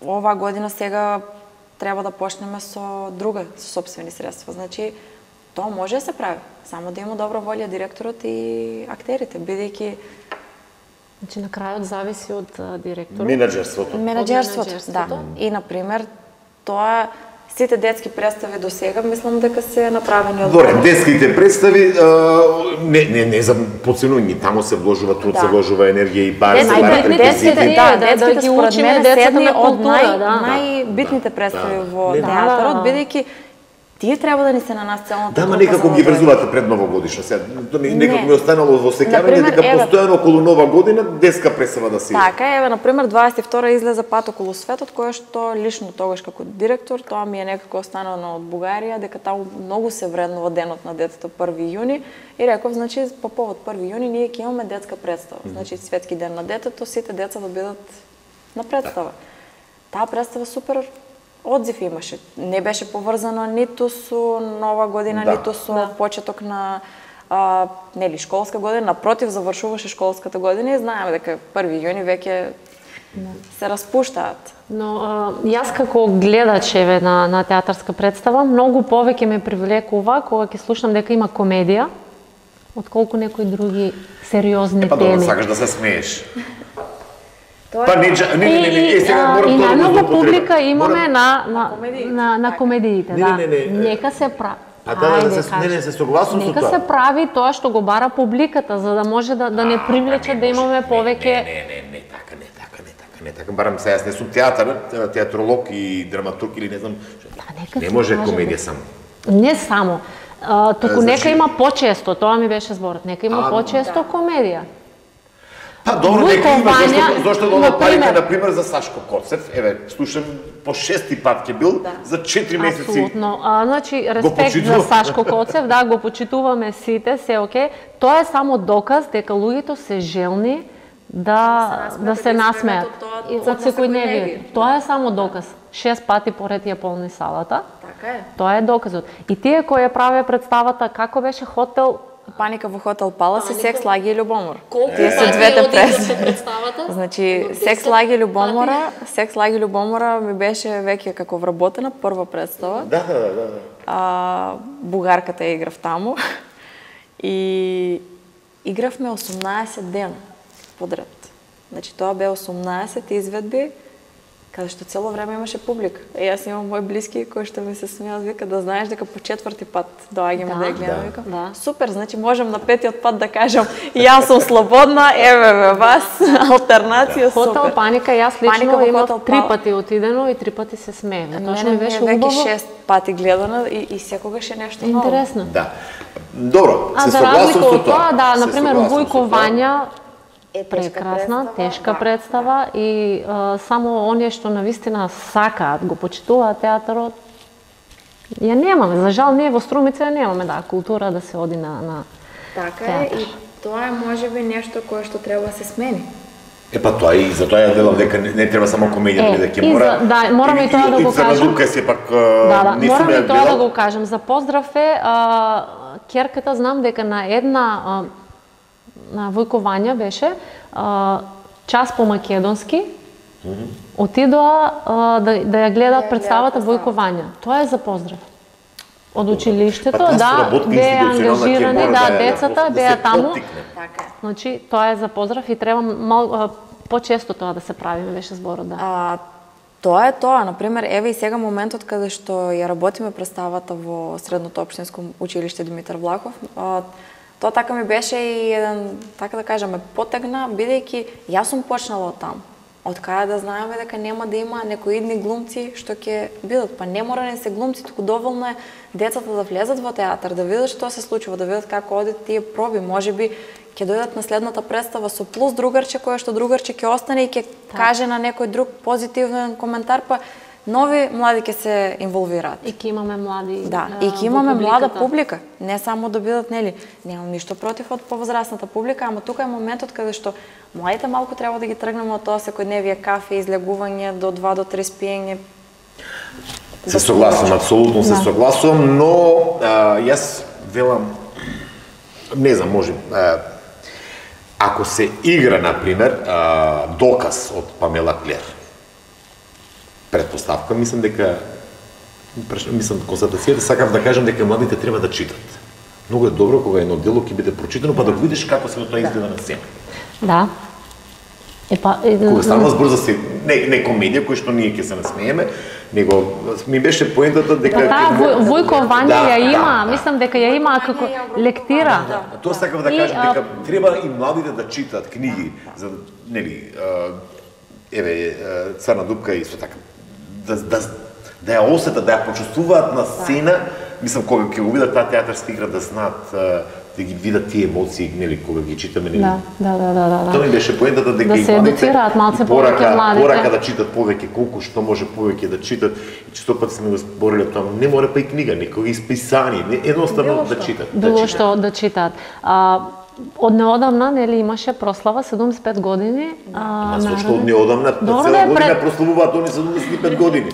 S3: ова година сега треба да почнеме со друга со сопствени средства. Значи тоа може да се прави, само да има добра волја директорот и актерите, бидејќи
S1: Значи на крајот зависи од а, директорот.
S2: Менаџерството.
S3: менаџерството, да.
S1: менаџерството.
S3: И на пример тоа сите детски представи до сега мислам дека се направени од
S2: Добре, детските представи, а, не, не, не за подценување, таму се вложува труд,
S3: Да.
S2: се вложува енергија и пари, се
S3: Детските-
S2: барат
S1: детските-
S2: реквизити.
S1: детските-
S3: да,
S1: да,
S3: детските
S1: да ги
S3: според
S1: учиме
S3: мене
S1: децата
S3: седни
S1: на
S3: од
S1: култура,
S3: нај,
S1: да.
S3: најбитните
S2: Да.
S3: представи
S2: Да.
S3: во
S2: Не, да.
S3: театарот,
S1: Да, да.
S3: бидејќи тие треба да ни се на нас целната
S2: Да, ма
S3: трупа
S2: некако
S3: за
S2: ги
S3: да
S2: врзувате пред новогодишна. Сега, тоа ми некако
S3: Не.
S2: ми останало во сеќавање
S3: Например,
S2: дека
S3: еве-
S2: постојано околу Нова година детска представа да се иде.
S3: Така, еве, например, дваесет и втора излезе Пат околу светот, кое што лично тогаш како директор, тоа ми е некако останано од Бугарија, дека таму многу се вреднува денот на детето први јуни и реков, значи, по повод први јуни ние ќе имаме детска представа. Значи, светски ден на детето, сите деца да бидат на представа. Таа представа супер одзив имаше. Не беше поврзана ниту со Нова година,
S2: Да.
S3: ниту со
S1: Да.
S3: почеток на а, нели школска година, напротив завршуваше школската година и знаеме дека први јуни веќе се распуштаат.
S1: Но а, јас како гледач еве на на театарска представа многу повеќе ме привлекува кога ќе слушам дека има комедија отколку некои други сериозни
S2: Па добро,
S1: теми.
S2: сакаш да се смееш.
S3: Тоа
S2: Па не,
S3: е
S2: джа- не, не, не, не, е, сега
S1: а,
S2: морам
S1: и
S2: тоа да го
S1: најнова
S2: злоупотребам.
S1: публика имаме
S2: Морам-
S1: на на
S3: комедиите.
S1: на на комедиите,
S2: Не,
S1: да.
S2: не, не, не,
S1: Нека се прави.
S2: А да, да, да, се- не, не, се согласувам со
S1: Нека
S2: тоа.
S1: се прави тоа што го бара публиката, за да може да да не привлече да имаме повеќе.
S2: Не, не, не, не, така, не, така, не, така, не, така. Барам се, јас не сум театар, театролог и драматург или не знам.
S1: Да, нека
S2: Не
S1: се
S2: може
S1: каже,
S2: комедија
S1: да.
S2: само.
S1: Не само. А, туку
S2: Значи-
S1: нека има почесто, тоа ми беше зборот. Нека има
S2: А,
S1: почесто
S3: да.
S1: комедија.
S2: Па добро, нека има, зашто, зашто да одат парите, например, за Сашко Коцев, еве, слушам, по шести пат ке бил, да. За четири месеци.
S1: Апсолутно. А, значи, респект за Сашко Коцев, да, го почитуваме сите, се окей. Тоа е само доказ дека луѓето се желни да, да се насмеат од секојдневието. Тоа е само доказ. Шест пати поред ја полни салата.
S3: Така е.
S1: Тоа е доказот. И тие кои ја правеа представата, како беше хотел
S3: Паника во хотел Палас и Секс, лаги и љубомор.
S1: Тие се двете
S3: представата. Значи, Секс, лаги и љубомора, Секс, лаги и љубомора ми беше веќе како вработена прва представа.
S2: Да, да, да, да.
S3: А, бугарката ја играв таму. И игравме осумнаесет дена подред. Значи, тоа бе осумнаесет изведби, каде што цело време имаше публика. И јас имам мои блиски кои што ми се смеат, вика да знаеш дека по четврти пат доаѓаме да ја гледаме, викам.
S1: Да.
S3: Супер, значи можам на петиот пат да кажам јас сум слободна, еве ве вас, алтернација супер.
S1: Хотел Паника, јас лично имав три пати отидено и три пати се смеев. Тоа што ми беше убаво.
S3: Веќе шест пати гледана и, и секогаш е нешто ново.
S1: Интересно.
S2: Да. Добро,
S1: а
S2: се
S1: за
S2: согласувам со тоа.
S1: Да, на пример Војко Вања
S3: е
S1: прекрасна, тешка представа и а, само оние што навистина сакаат, го почитуваат театарот, ја немаме. За жал, ние во Струмица ја немаме, да, култура да се оди на, на
S3: така
S1: театар.
S3: Е, и тоа е можеби нешто кое што треба да се смени.
S2: Е па тоа и за тоа ја делам дека не, не треба само комедија,
S1: е,
S2: дека ќе мора.
S1: За, да, мораме и, и тоа да го кажам.
S2: И Црна дупка се пак
S1: да, да,
S2: не
S1: мораме и тоа
S2: гледал.
S1: да го кажам. За поздрав е а, керката, знам дека на една а, на Војко Вања беше а, час по македонски. Mm -hmm. Отидоа а, да, да ја гледаат да, представата Војко Вања. Тоа е за поздрав. Од училиштето, па, да, беа ангажирани, да, да, децата да, беа таму.
S3: Така.
S1: Значи, тоа е за поздрав и треба мал почесто тоа да се прави, беше зборот, да.
S3: А, тоа е тоа, например, еве и сега моментот каде што ја работиме представата во Средното општинско училиште Димитар Влахов. А, тоа така ми беше и еден, така да кажеме, потегна, бидејќи јас сум почнала од таму. Од каде да знаеме дека нема да има некои идни глумци што ќе бидат, па не мора не се глумци, туку доволно е децата да влезат во театар, да видат што се случува, да видат како одат тие проби, можеби ќе дојдат на следната представа со плюс другарче, кое што другарче ќе остане и ќе каже на некој друг позитивен коментар, па нови млади ќе се инволвираат.
S1: И ќе имаме млади.
S3: Да, и ќе имаме млада публика, не само да бидат, нели, немам ништо против од повозрастната публика, ама тука е моментот каде што младите малку треба да ги тргнеме од тоа секојдневие кафе, излегување до два до три спиење.
S2: Се согласувам, апсолутно се согласувам, но а, јас велам, не знам, може, а, ако се игра, например, а, Доказ од Памела Клер, предпоставка, мислам дека, мислам констатацијата, сакам да кажам дека младите треба да читат. Многу е добро кога едно дело ќе биде прочитано, па да го видиш како се тоа изгледа на сцена.
S1: Да. Епа, е,
S2: кога станува збор за се, не, не комедија кој што ние ќе се насмееме, него ми беше поентата дека
S1: да, Војко Вања
S2: да,
S1: ја има,
S2: да,
S1: мислам дека ја има како лектира.
S2: Да, да. Тоа сакав да кажам дека треба и младите да читаат книги за нели еве Црна дупка и исто така да да да ја осетат, да ја почувствуваат на сцена, мислам кога ќе го видат таа театарска игра да знаат да ги видат тие емоции, нели, кога ги читаме, нели.
S1: Да, да, да, да, да.
S2: Тоа ми беше поентата дека
S1: да се едуцираат малце повеќе младите.
S2: Порака да читат повеќе, колку што може повеќе да читат. И често пати сме го збориле тоа, не мора па и книга, некој исписани, не едноставно да читат.
S1: Било што да читаат. А, од неодамна, нели, имаше прослава седумдесет и пет години.
S2: Ама зашто од неодамна, цела година прославуваат они седумдесет и пет години.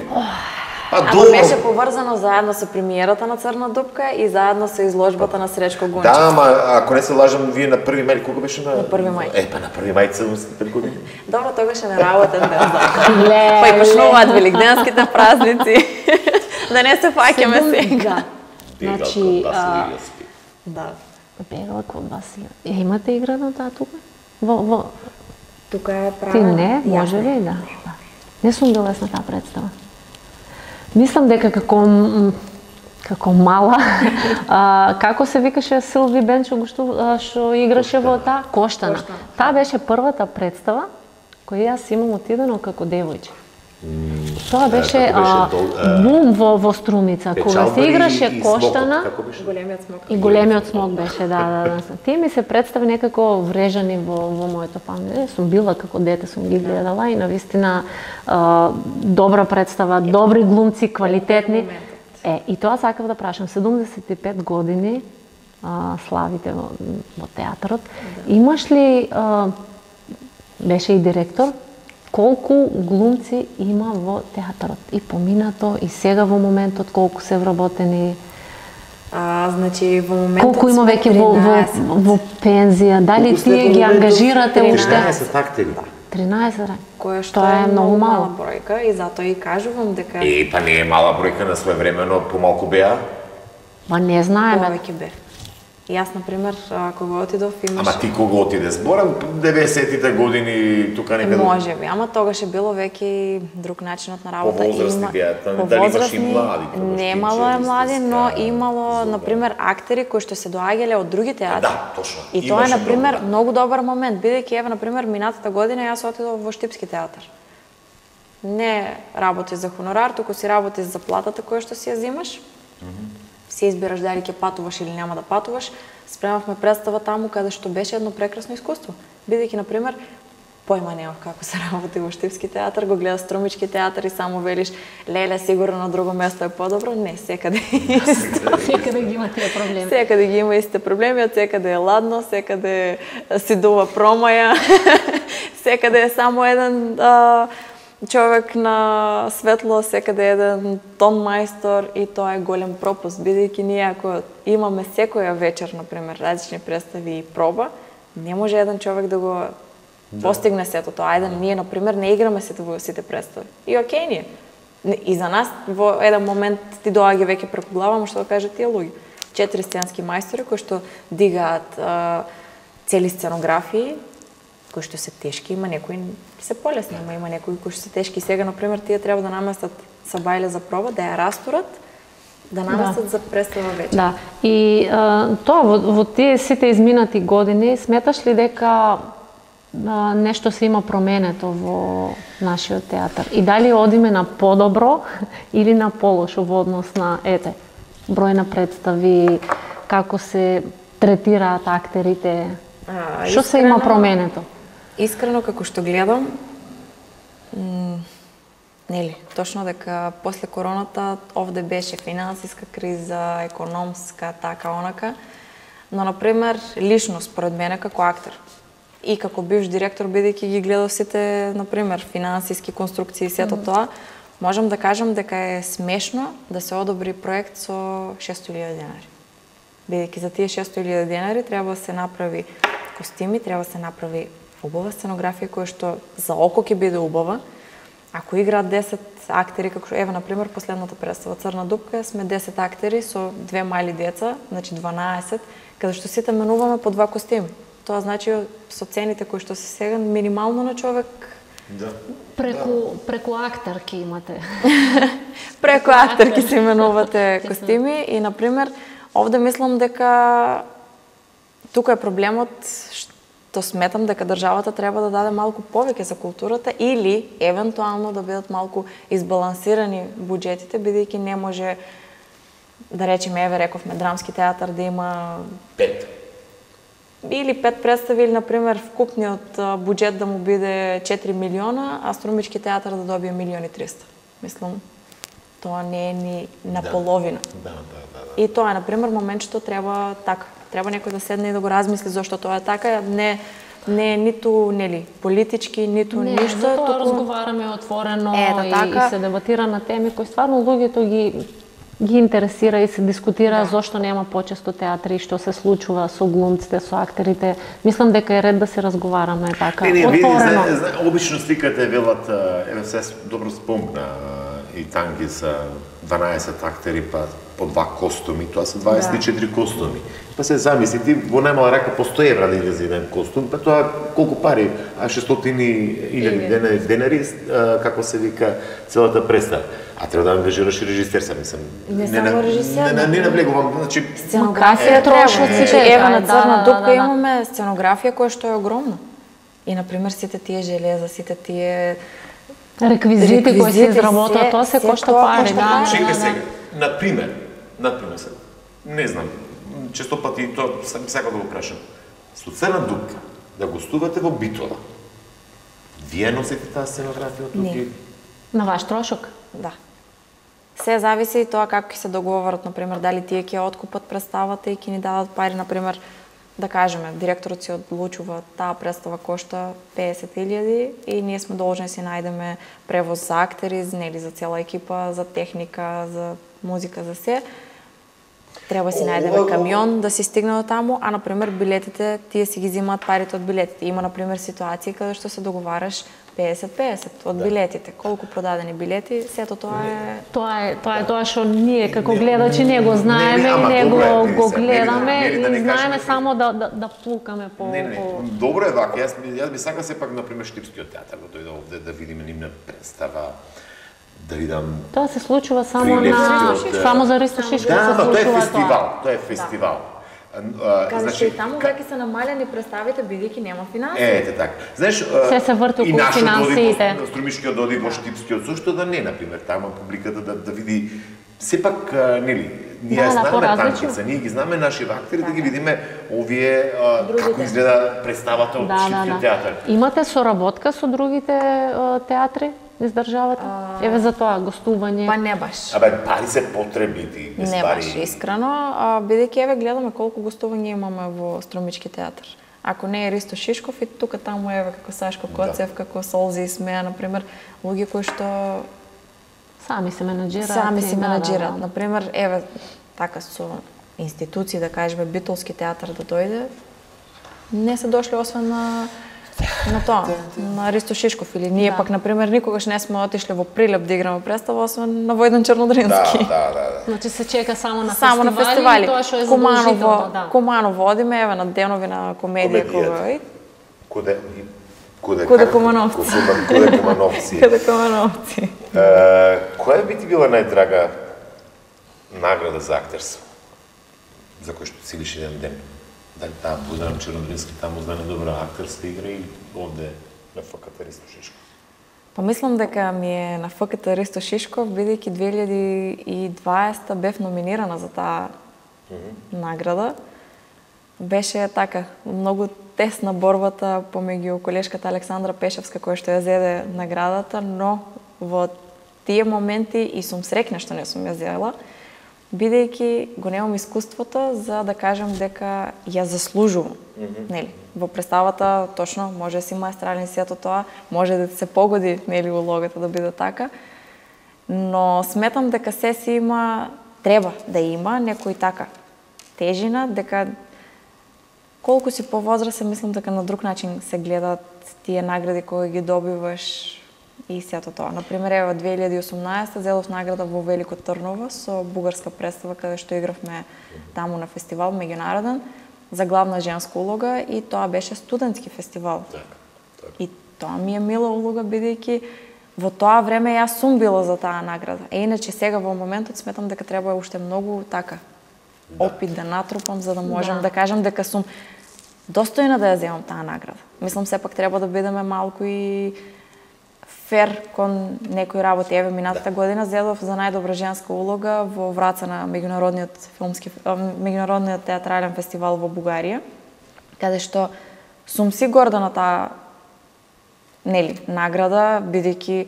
S3: А Ама беше поврзано заедно со премиерата на Црна дупка и заедно со изложбата на Сречко Гунчев.
S2: Да, ама ако не се лажам, вие на први мај, кога беше на...
S3: На први мај.
S2: Е, па на први мај седумдесет и пет години.
S3: Добро, тогаш е неработен ден, да. Па и почнуваат великденските празници. Да не се фаќаме сега.
S1: Значи,
S3: да.
S1: Бегала код Василија. Е, имате игра на таа тука? Во, во...
S3: Тука е права.
S1: Ти не, може ли, да. Не сум била на таа представа. Мислам дека како како мала, а, како се викаше Силви Бенчо што што играше во таа Коштана. Таа беше првата представа која јас имам отидено како девојче. тоа беше, а, бум во, во Струмица, кога се играше Коштана,
S3: големиот смок.
S1: И големиот смок беше, да, да, да. Тие ми се представи некако врежани во, во моето памет. Сум била како дете, сум ги гледала и навистина а, добра представа, добри глумци, квалитетни. Е, и тоа сакав да прашам, седумдесет и пет години а, славите во, во театарот. Да. Имаш ли, а, беше и директор, колку глумци има во театарот? И поминато, и сега во моментот, колку се вработени?
S3: А, значи, во моментот
S1: колку има веќе во, во, во пензија? Дали тие ги ангажирате уште?
S2: тринаесет актери.
S1: тринаесет,
S3: кое што
S1: тоа е многу мало
S3: бројка и затоа и кажувам дека
S2: Е, па не е мала бројка, на своевремено помалку беа.
S1: Па не знаеме.
S3: Повеќе бе. И јас, например, кога отидов, имаш...
S2: Ама ти кога отиде? Зборам деветдесетите години, тука некаде...
S3: Може би, ама тогаш е било веќе друг начинот на работа.
S2: По-возрастни беа, дали имаш и млади?
S3: Немало е млади, но имало, например, актери кои што се доаѓале од други театри.
S2: Да, точно.
S3: И тоа е, например, многу добар момент, бидејќи, еве, например, минатата година јас отидов во Штипски театар. Не работи за хонорар, туку си работи за платата која што си ја зимаш. Си избираш дали ќе патуваш или нема да патуваш. Спремавме представа таму каде што беше едно прекрасно искуство. Бидејќи, например, појма немав како се работи во Штипски театар, го гледаш Струмички театар и само велиш, леле, сигурно на друго место е подобро. Не, секаде е исто.
S1: Секаде ги има тие проблеми.
S3: Секаде ги има истите проблеми, од секаде е ладно, секаде си дува промаја, секаде е само еден а, човек на светло, секаде еден тон мајстор и тоа е голем пропуст, бидејќи ние ако имаме секоја вечер, например, различни представи и проба, не може еден човек да го да. постигне сето тоа. Ајде, ние, например, не играме сите во сите представи. И окей ние. И за нас во еден момент ти доаѓа веќе преку глава, ама што да кажат тие луѓе. Четири сценски мајстори кои што дигаат а, цели сценографии, кои што се тешки, има некои се полесни, ама има некои кои што се тешки. Сега, например, тие треба да наместат сабајле за проба, да ја растурат, да наместат да. за представа вечер.
S1: Да. И а, тоа во, во тие сите изминати години, сметаш ли дека а, нешто се има променето во нашиот театар? И дали одиме на подобро или на полошо во однос на, ете, број на представи, како се третираат актерите? Што се има променето?
S3: Искрено, како што гледам, нели, точно дека после короната овде беше финансиска криза, економска, така, онака, но, например, лично, според мене, како актер и како бивш директор, бидејќи ги гледав сите, например, финансиски конструкции и сето тоа, можам да кажам дека е смешно да се одобри проект со шесто илјади денари. Бидејќи за тие шесто илјади денари треба да се направи костими, треба да се направи убава сценографија која што за око ќе биде убава. Ако играат десет актери, како еве, например, последната представа Црна дупка, сме десет актери со две мали деца, значи дванаесет, каде што сите менуваме по два костими. Тоа значи со цените кои што се сега минимално на човек.
S2: Да.
S1: Преку преку актерки имате.
S3: Преку актерки се менувате костими и, например, овде мислам дека тука е проблемот што сметам дека државата треба да даде малку повеќе за културата или евентуално да бидат малку избалансирани буџетите, бидејќи не може, да речеме, еве рековме, драмски театар да има
S2: пет
S3: или пет представи, или, например, вкупниот буџет да му биде четири милиона, а Струмички театар да добие милион и триста. Мислам, тоа не е ни наполовина.
S2: Да, да, да, да.
S3: И тоа е, например, момент што треба така. Треба некој да седне и да го размисли зошто тоа е така. Не, не е ниту, нели, политички, ниту
S1: не,
S3: ништо.
S1: Не, затоа
S3: туку...
S1: разговараме отворено
S3: Ета,
S1: и,
S3: така.
S1: и се дебатира на теми кои стварно луѓето ги ги интересира и се дискутира да. зошто нема почесто театри, што се случува со глумците, со актерите. Мислам дека е ред да се разговараме така,
S2: не, не,
S1: отворено.
S2: Види, зна, зна, обично сликате велат, еве се добро спомна, и танги са дванаесет актери, па по два костуми, тоа се дваесет и четири да. костуми. Па се замисли, ти во најмала рака по сто евра да излезе еден костум, па тоа колку пари, а шестстотини илјади денари, како се вика целата представа. А треба да ангажираш и режисер, сам мислам.
S3: Не само режисер.
S2: Не, не наблегувам, значи
S3: сценографија
S1: трошоците.
S3: Значи, еве на
S1: да,
S3: Црна
S1: да,
S3: дупка
S1: да, да.
S3: имаме сценографија која што е огромна. И, например, сите тие железа, сите тие
S1: Реквизити кои се изработат, тоа се кошта пари, да.
S2: Чекај сега, на пример, на пример сега, не знам, често пати тоа сам сакам да го прашам. Со Црна дупка да гостувате во Битола. Вие носите таа сценографија од тука?
S1: На ваш трошок?
S3: Да. Се зависи и тоа како ќе се договорат, например, дали тие ќе откупат представата и ќе ни дадат пари, например, да кажеме, директорот си одлучува таа представа кошта песет илјади и ние сме должни да си најдеме превоз за актери, нели за цела екипа, за техника, за музика, за се. Треба си најдеме камион да си стигне до таму, а например билетите тие си ги земаат парите од билетите. Има например ситуации каде што се договараш песет песет од билетите. Колку продадени билети, сето тоа е
S1: Тоа е тоа е тоа што ние како гледачи не го знаеме и не го го гледаме и знаеме само да да да плукаме по
S2: Не, не, добро е вака. Јас јас би сакал сепак например Штипскиот театар да дојде овде да видиме нивна представа, да видам.
S1: Тоа се случува само на само за Ристо Шишко се
S2: Да,
S1: случува
S2: тоа е
S1: тоа.
S2: фестивал, тоа е фестивал.
S3: Каде што и таму веќе се намалени представите бидејќи нема финансии.
S2: Ете така. Знаеш,
S1: Се се врти околу финансиите.
S2: И Струмишкиот доди во Штипскиот, зошто да не, например, таму публиката да да види сепак нели, ние
S1: Да, да,
S2: знаеме
S1: поразлично.
S2: танкица, ние ги знаеме наши актери да ги видиме овие а, како изгледа представата од
S1: Да, да,
S2: Штипскиот
S1: да.
S2: театар.
S1: Имате соработка со другите а, театри из државата? Еве за тоа гостување.
S3: Па не баш.
S2: Абе, пари се потребни, без
S3: Не
S2: пари.
S3: баш искрено, а, бидејќи еве гледаме колку гостувања имаме во Струмички театар. Ако не е Ристо Шишков и тука таму еве како Сашко Коцев, да. како Солзи и Смеа, например, луѓе кои што
S1: Сами се менаџираат.
S3: сами се
S1: и да,
S3: менаџираат.
S1: да, да.
S3: Например, еве така со институции да кажеме Битолски театар да дојде, не се дошли освен на на тоа, на Ристо Шишков или ние
S1: Да.
S3: пак например никогаш не сме отишле во Прилеп да играме представа освен на Војдан Чернодрински.
S2: Да, да, да, да.
S1: Значи се чека само на
S3: Само
S1: фестивали,
S3: на фестивали.
S1: и тоа што е
S3: Куманово,
S1: задолжително, да.
S3: Куманово одиме еве на денови на комедија
S2: Комедијата.
S3: кога
S2: Куде куде
S3: Куде Кумановци.
S2: Куде Кумановци.
S3: Каде Кумановци.
S2: Е, која би ти била најдрага награда за актерство? За кој што целиш еден ден? Дали таа Војдан Чернодрински таму знае добра актерска игра и овде на ФКТ Ристо Шишков?
S3: Па мислам дека ми е на ФКТ Ристо Шишков, бидејќи две илјади и дваесета бев номинирана за таа mm -hmm. награда. Беше така, многу тесна борбата помеѓу колешката Александра Пешевска која што ја зеде наградата, но во тие моменти и сум среќна што не сум ја зела, бидејќи го немам искуството за да кажам дека ја заслужувам. Mm -hmm. Нели, во представата точно може да си маестрален сето тоа, може да се погоди нели улогата да биде така, но сметам дека се си има, треба да има некој така тежина, дека колку си повозрасен, мислам дека на друг начин се гледаат тие награди кои ги добиваш и сето тоа. Например, ево две илјади и осумнаесета зедов награда во Велико Трново со бугарска представа каде што игравме таму на фестивал меѓународен за главна женска улога и тоа беше студентски фестивал.
S2: Так, так.
S3: И тоа ми е мила улога бидејќи во тоа време јас сум била за таа награда. Е иначе сега во моментот сметам дека треба уште многу така
S2: Да.
S3: опит да натрупам за да можам
S1: Да.
S3: да, кажам дека сум достојна да ја земам таа награда. Мислам сепак треба да бидеме малку и фер кон некои работи. Еве минатата да. година зедов за најдобра женска улога во Враца на меѓународниот филмски меѓународниот театрален фестивал во Бугарија, каде што сум си горда на таа нели награда бидејќи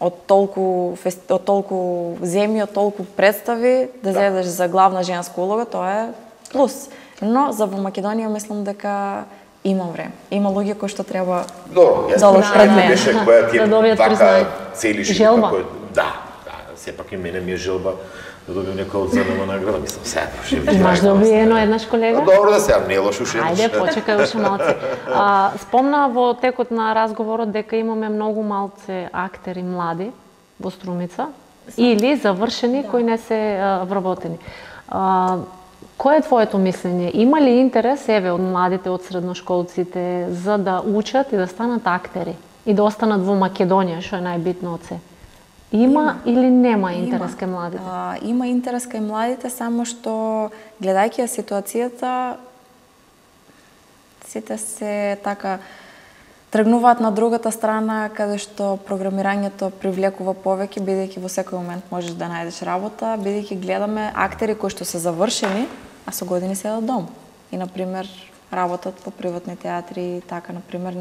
S3: од толку фест... од толку земји, од толку представи да, да зедеш за главна женска улога, тоа е плюс. Но за во Македонија мислам дека има време. Има луѓе кои што треба
S2: Добро, јас
S3: да
S2: да,
S3: предме.
S2: беше која ти е
S1: Да добијат
S2: вака
S1: признање.
S2: целиш
S1: Желба.
S2: кој да, да, сепак и мене ми е желба да добиам некоја одземна награда, мислам сега проши.
S1: Имаш добиено еднаш колега?
S2: Добро да сега не лошо уште.
S1: Ајде, почекај уште малце. А, спомна во текот на разговорот дека имаме многу малце актери млади во Струмица или завршени да. кои не се а, вработени. А, Кое е твоето мислење? Има ли интерес, еве, од младите, од средношколците, за да учат и да станат актери? И да останат во Македонија, што е најбитно од се? Има, има или нема интерес кај младите?
S3: А, има интерес кај младите, само што гледајќи ја ситуацијата, сите се така тргнуваат на другата страна, каде што програмирањето привлекува повеќе, бидејќи во секој момент можеш да најдеш работа, бидејќи гледаме актери кои што се завршени, а со години седат дом. И, например, работат по приватни театри, така, например,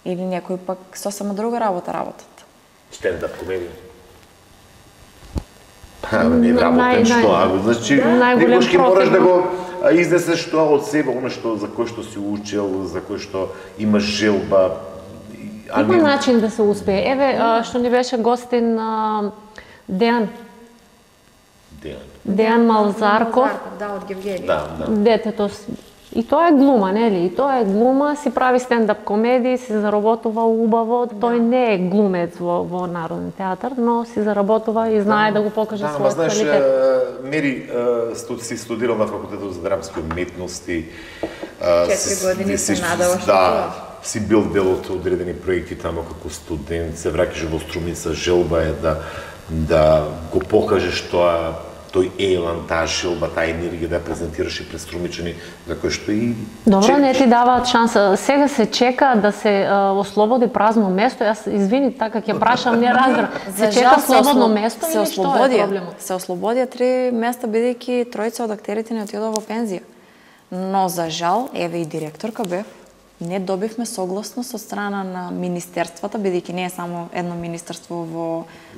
S3: или некои пак сосема друга работа работат.
S2: Стендап комедија. Па, не работен што, а значи, некош ќе мораш да го изнесеш тоа од себе, оно што за кој што си учел, за кој што имаш желба.
S1: Има начин да се успее. Еве, што ни беше гостин Дејан.
S2: Дејан.
S1: Дејан Малзарков.
S3: Да, од Гевгени.
S2: Да, да.
S1: Детето. И тоа е глума, нели? И тоа е глума, си прави стендап комедии, си заработува убаво. Тој не е глумец во, во Народен театар, но си заработува и знае да, да го покаже
S2: да,
S1: својот
S2: знаеш,
S1: квалитет.
S2: Мери студ, си студирал на факултетот за драмски уметности.
S3: Четири години се надава што
S2: да, си бил дел од одредени проекти тамо како студент, се враќаш во Струмица, желба е да да го покажеш тоа, тој елан, таа желба, таа енергија да ја презентираш и пред струмичани, за кој што и
S1: Добро,
S2: чекаш.
S1: не ти даваат шанса. Сега се чека да се а, ослободи празно место. Јас извини, така ќе прашам, не разбирам. Се чека слободно место или што е проблемот?
S3: Се ослободија три места, бидејќи тројца од актерите не отидоа во пензија. Но за жал, еве и директорка бев, не добивме согласност од страна на министерствата, бидејќи не е само едно министерство во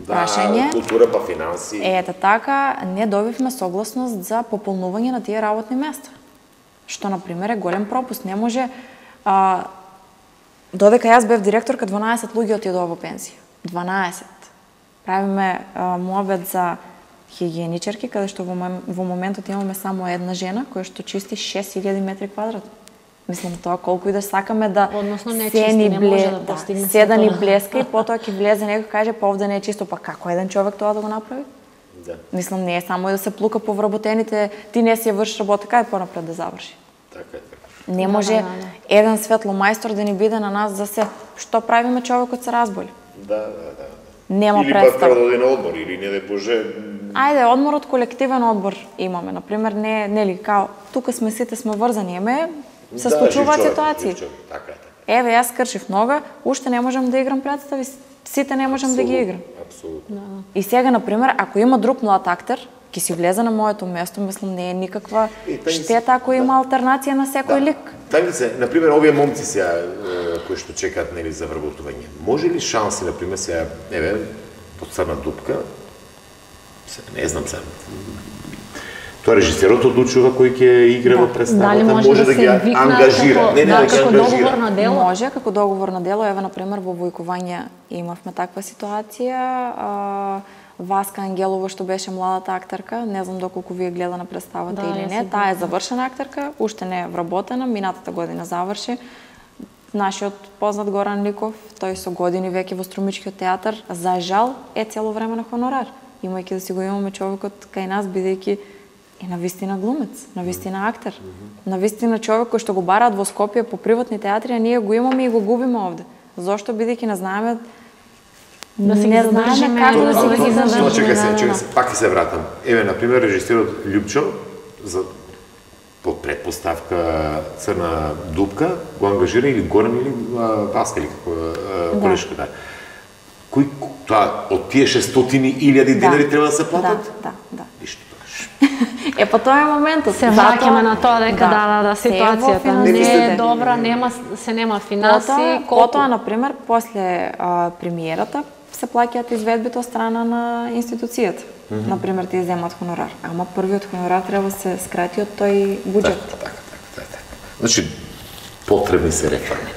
S3: прашање.
S2: Да, култура па финанси.
S3: Ете така, не добивме согласност за пополнување на тие работни места. Што, например, е голем пропуст. Не може... А, додека јас бев директорка, дванаесет луѓе отидоа во пензија. дванаесет. Правиме а, муабет за хигиеничарки, каде што во, во моментот имаме само една жена, која што чисти шест илјади метри квадратни. Мислам, тоа колку и да сакаме да
S1: Односно, не
S3: се
S1: чисти,
S3: ни
S1: не
S3: бле...
S1: може да
S3: да,
S1: постигне
S3: се да ни
S1: тоа.
S3: блеска и потоа ќе влезе некој каже па овде не е чисто, па како еден човек тоа да го направи?
S2: Да.
S3: Мислам, не е само и да се плука по вработените, ти не си ја вршиш работа, кај понапред да заврши.
S2: Така е, така.
S3: Не може
S1: да, да, да.
S3: еден светломајстор да ни биде на нас за се. Што правиме човекот се разболи?
S2: Да, да, да.
S3: Нема
S2: или пак
S3: представа.
S2: треба да оди на одмор, или не да боже...
S3: Ајде, одморот колективен одбор имаме. Например, не, нели, као, тука сме сите сме врзани, еме, се
S2: да,
S3: случуваат
S2: жив човек,
S3: ситуации.
S2: жив човек, така е, така.
S3: Еве, јас скршив нога, уште не можам да играм представи, сите не можам да ги играм.
S2: Апсолутно.
S3: И сега, например, ако има друг млад актер, ќе си влезе на моето место, мислам, не е никаква
S2: И, тај
S3: штета ако има алтернација на секој лик.
S2: Тајнице, например, овие момци сега кои што чекаат нели за вработување. Може ли шанси, например, сега, еве, од Црна дупка, се, не знам сега, тоа режисерот одлучува кој ќе игра во представата,
S1: Дали може,
S2: може
S1: да,
S2: да ги
S1: се викнат
S2: ангажира,
S1: како,
S2: не, не,
S1: да,
S2: да ги
S1: како
S2: ангажира.
S1: договорно дело?
S3: Може, како договорно дело, еве, например, во Војкување имавме таква ситуација. А, Васка Ангелова, што беше младата актерка, не знам доколку вие гледа на представата
S1: Да,
S3: или
S1: јас
S3: не,
S1: си
S3: таа е завршена актерка, уште не е вработена, минатата година заврши. Нашиот познат Горан Ликов, тој со години веќе во Струмичкиот театар, за жал е цело време на хонорар, имајќи да си го имаме човекот кај нас, бидејќи е навистина глумец, навистина актер, навистина човек кој што го бараат во Скопје по приватни театри, а ние го имаме и го губиме овде. Зошто? Бидејќи не знаеме
S1: Да се ги
S3: не знаеме
S1: задржиме,
S3: како да
S1: да
S3: се
S1: ги
S3: ги
S1: задржиме.
S2: Тоа чекај се,
S1: да,
S2: чекај
S1: да.
S2: се, пак ќе се вратам. Еве, например, режисерот Љупчо, за под предпоставка Црна дупка, го ангажира или Горан или а, Васка или како а, колешка, да. Кој тоа од тие шестстотини илјади денари треба да се платат?
S3: Да, да, да.
S2: Ништо тогаш.
S3: Е, па тоа е моментот.
S1: Се враќаме на тоа дека да, да, да, ситуацијата
S3: се е во
S1: не е
S3: финансите.
S1: добра, нема се нема финанси,
S3: Потоа,
S1: колку
S3: потоа, например, после а, премиерата се плаќаат изведбите од страна на институцијата. Mm -hmm. Например, тие земат хонорар. Ама првиот хонорар треба да се скрати од тој буџет.
S2: Така, така, така, така. Значи, потребни се реформи.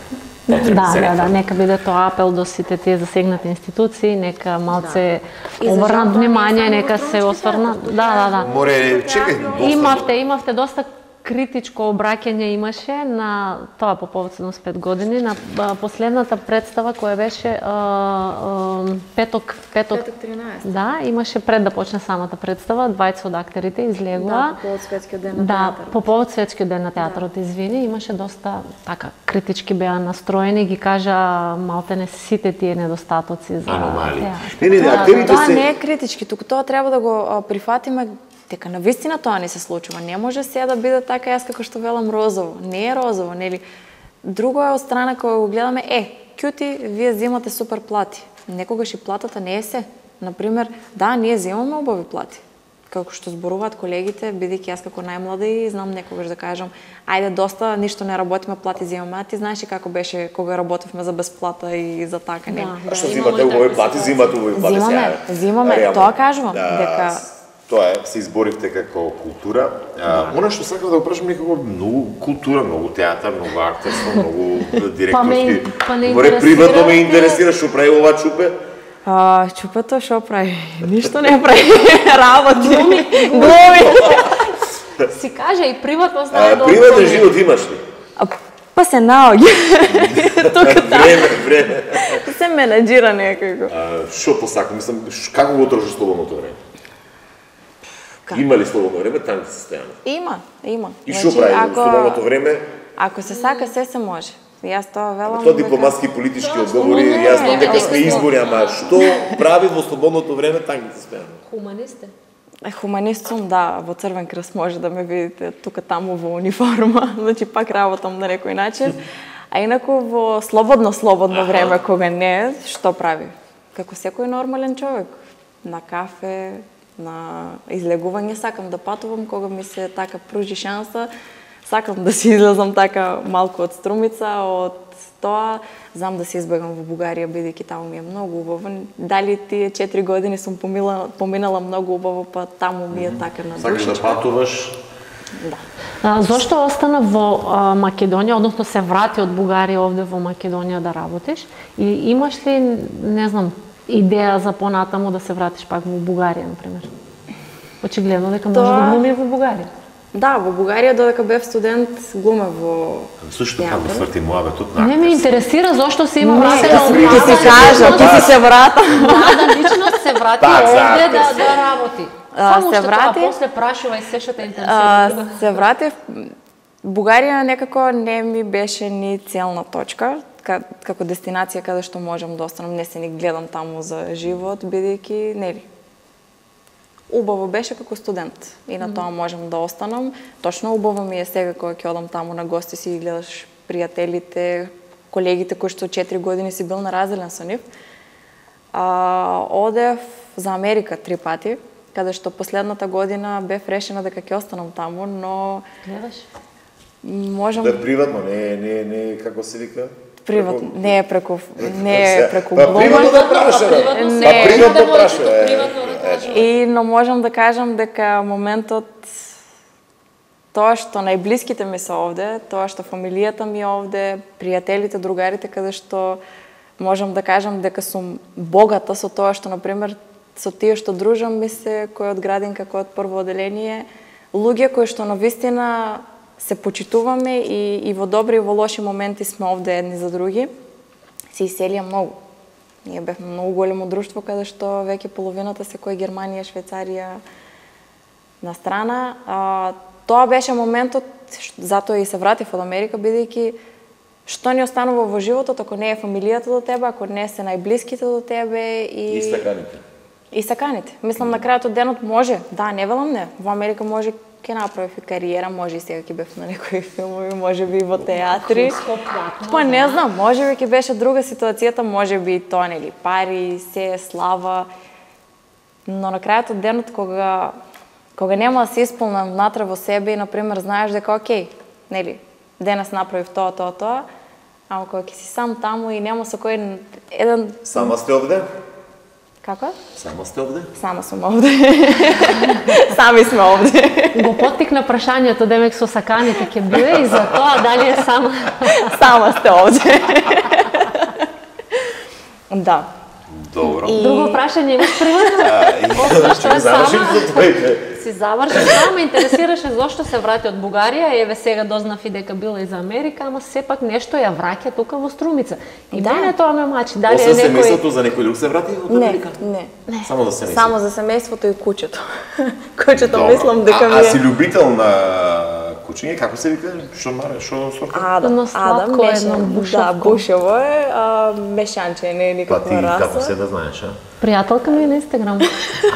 S1: Да,
S2: Потребни се
S1: да, да,
S2: реформи.
S1: нека биде тоа апел до сите тие засегнати институции, нека малце
S3: И за жал
S1: обрнат
S3: тоа не е
S1: внимание,
S3: само
S1: нека
S3: во
S1: се
S3: Струмички
S1: осврнат.
S3: театар.
S1: Да, да, да.
S2: Море, чекај, доста...
S1: Имавте, имавте доста критичко обраќање имаше на тоа по повод седумдесет и пет години на а, последната представа која беше а, а, петок петок
S3: тринаесет.
S1: Да, имаше пред да почне самата представа, двајца од актерите излегува.
S3: Да, по повод светскиот ден на
S1: Да,
S3: театарот.
S1: по повод светскиот ден на театарот, извини, имаше доста така критички беа настроени, ги кажа малтене сите тие недостатоци за
S2: Аномалии.
S1: театар.
S2: Не, не, не,
S1: Да,
S2: актерите
S3: Тоа
S2: се...
S3: не е критички, туку тоа треба да го а, прифатиме дека навистина тоа не се случува. Не може се да биде така јас како што велам розово. Не е розово, нели? Друго е од страна кога го гледаме, е, кјути, вие земате супер плати. Некогаш и платата не е се. Например, да, ние земаме убави плати. Како што зборуваат колегите, бидејќи јас како најмлада и знам некогаш да кажам, ајде доста, ништо не работиме, плати земаме. А ти знаеш и како беше кога работевме за безплата и за така не.
S2: А што земате убави плати, земате убави плати сега?
S3: Земаме, земаме, тоа кажувам, дека
S2: тоа е, се изборивте како култура. А, она што сакам да го прашам, некако многу култура, многу театар, многу актерство, многу директорски.
S1: Па не
S2: Море приватно ме интересира што прави ова Чупе.
S3: А, Чупето што прави? Ништо не прави. Работи. Глуми.
S1: Си кажа и приватно знае да.
S2: Приватен живот имаш ли?
S3: А, па се наоѓа. Тука
S2: Време, време.
S3: се менеджира некако.
S2: А, што посакам, мислам, како го трошиш слободното време?
S3: Како?
S2: Има ли слободно време танки состојано?
S3: Има, има.
S2: И што прави во слободното време?
S3: Ако се сака, се се може. Јас тоа велам.
S2: Тоа дипломатски и политички одговори, јас знам дека сме избори, ама што прави во слободното време танки состојано?
S1: Хуманисте.
S3: Е, хуманист сум, да, во Црвен крст може да ме видите тука таму во униформа, значи пак работам на некој начин. А инаку во слободно слободно време кога не, што прави? Како секој нормален човек, на кафе, на излегување сакам да патувам кога ми се така пружи шанса. Сакам да си излезам така малку од Струмица, од тоа. Знам да се избегам во Бугарија, бидејќи таму ми е многу убаво. Дали тие четири години сум поминала, поминала многу убаво, па таму ми е така на
S2: Сакаш да патуваш?
S3: Да.
S1: А, зошто остана во а, Македонија, односно се врати од Бугарија овде во Македонија да работиш? И имаш ли, не знам, идеја за понатаму да се вратиш пак во Бугарија, например? Очигледно дека може да глуми во Бугарија.
S3: Да, во Бугарија додека бев студент глуме во
S2: Слушай, како сврти муабетот на
S1: Не ме интересира зошто се има
S3: вратена
S1: вратена
S3: од Ти си кажа, ти си се врата.
S1: Да, личност се врати овде да да работи. Само
S3: се
S1: што
S3: врати.
S1: тоа после прашувај се што те
S3: А,
S1: интересира.
S3: се вратив. Бугарија некако не ми беше ни целна точка, како дестинација каде што можам да останам, не се ни гледам таму за живот, бидејќи нели. Убаво беше како студент и на тоа можам да останам. Точно убаво ми е сега кога ќе одам таму на гости си и гледаш пријателите, колегите кои што четири години си бил на разделен со нив. А, одев за Америка три пати, каде што последната година бев решена дека ќе останам таму, но
S1: Гледаш?
S3: можам
S2: Да, приватно, не не не како се вика?
S3: приватно, не е преку не е преку
S2: Па
S3: глума.
S2: приватно да праша.
S3: Не.
S2: Па приватно праша.
S1: Приватно да кажам.
S3: И но можам да кажам дека моментот тоа што најблиските ми се овде, тоа што фамилијата ми е овде, пријателите, другарите каде што можам да кажам дека сум богата со тоа што на пример со тие што дружам ми се кој од градинка, кој од прво оделение, луѓе кои што навистина се почитуваме и, и во добри и во лоши моменти сме овде едни за други, се иселија многу. Ние бевме многу големо друштво каде што веќе половината се кој Германија, Швајцарија на страна. А, тоа беше моментот, затоа и се вратив од Америка, бидејќи што ни останува во животот ако не е фамилијата до тебе, ако не се најблиските до тебе и...
S2: И стаканите.
S3: И саканите. Мислам, на крајот од денот може, да, не велам не, во Америка може ќе направи и кариера, може и сега ќе бев на некои филмови, може би и во театри. Па не знам, може би ќе беше друга ситуацијата, може би и тоа, нели, пари, се, слава. Но на крајот од денот, кога, кога нема да се исполнам внатре во себе и, например, знаеш дека, окей, нели, денес направив тоа, тоа, тоа, ама кога ќе си сам таму и нема со кој еден...
S2: Сама сте овде?
S3: Како?
S2: Сама сте овде?
S3: Сама сум овде. Сами сме овде.
S1: Го поттикна прашањето, демек со саканите ќе биде и за тоа дали е сама.
S3: Сама сте овде. Да.
S2: Добро.
S3: И...
S1: Друго прашање имаш приватно?
S2: Што е завршим за твоите?
S1: Си завршил, само ме интересираше зошто се врати од Бугарија, еве сега дознав и дека била и за Америка, ама сепак нешто ја враќа тука во Струмица. И
S3: Да.
S1: мене тоа ме мачи, дали е
S2: Освен
S1: некој...
S2: семејството за некој друг се врати од
S3: Не,
S2: Америка?
S3: не.
S2: Само за семејството.
S3: Само за семејството и куќето. Куќето
S2: Добро.
S3: мислам дека
S2: а,
S3: ми
S2: а
S3: е...
S2: си љубител на кучиње, како се вика? Што маре, што сорта?
S3: Адам, Адам,
S1: едно бушевко.
S3: Да, бушево е, а, мешанче, не е никаква
S2: раса.
S3: раса.
S2: Па ти како се да знаеш, а?
S1: Пријателка ми е на Инстаграм.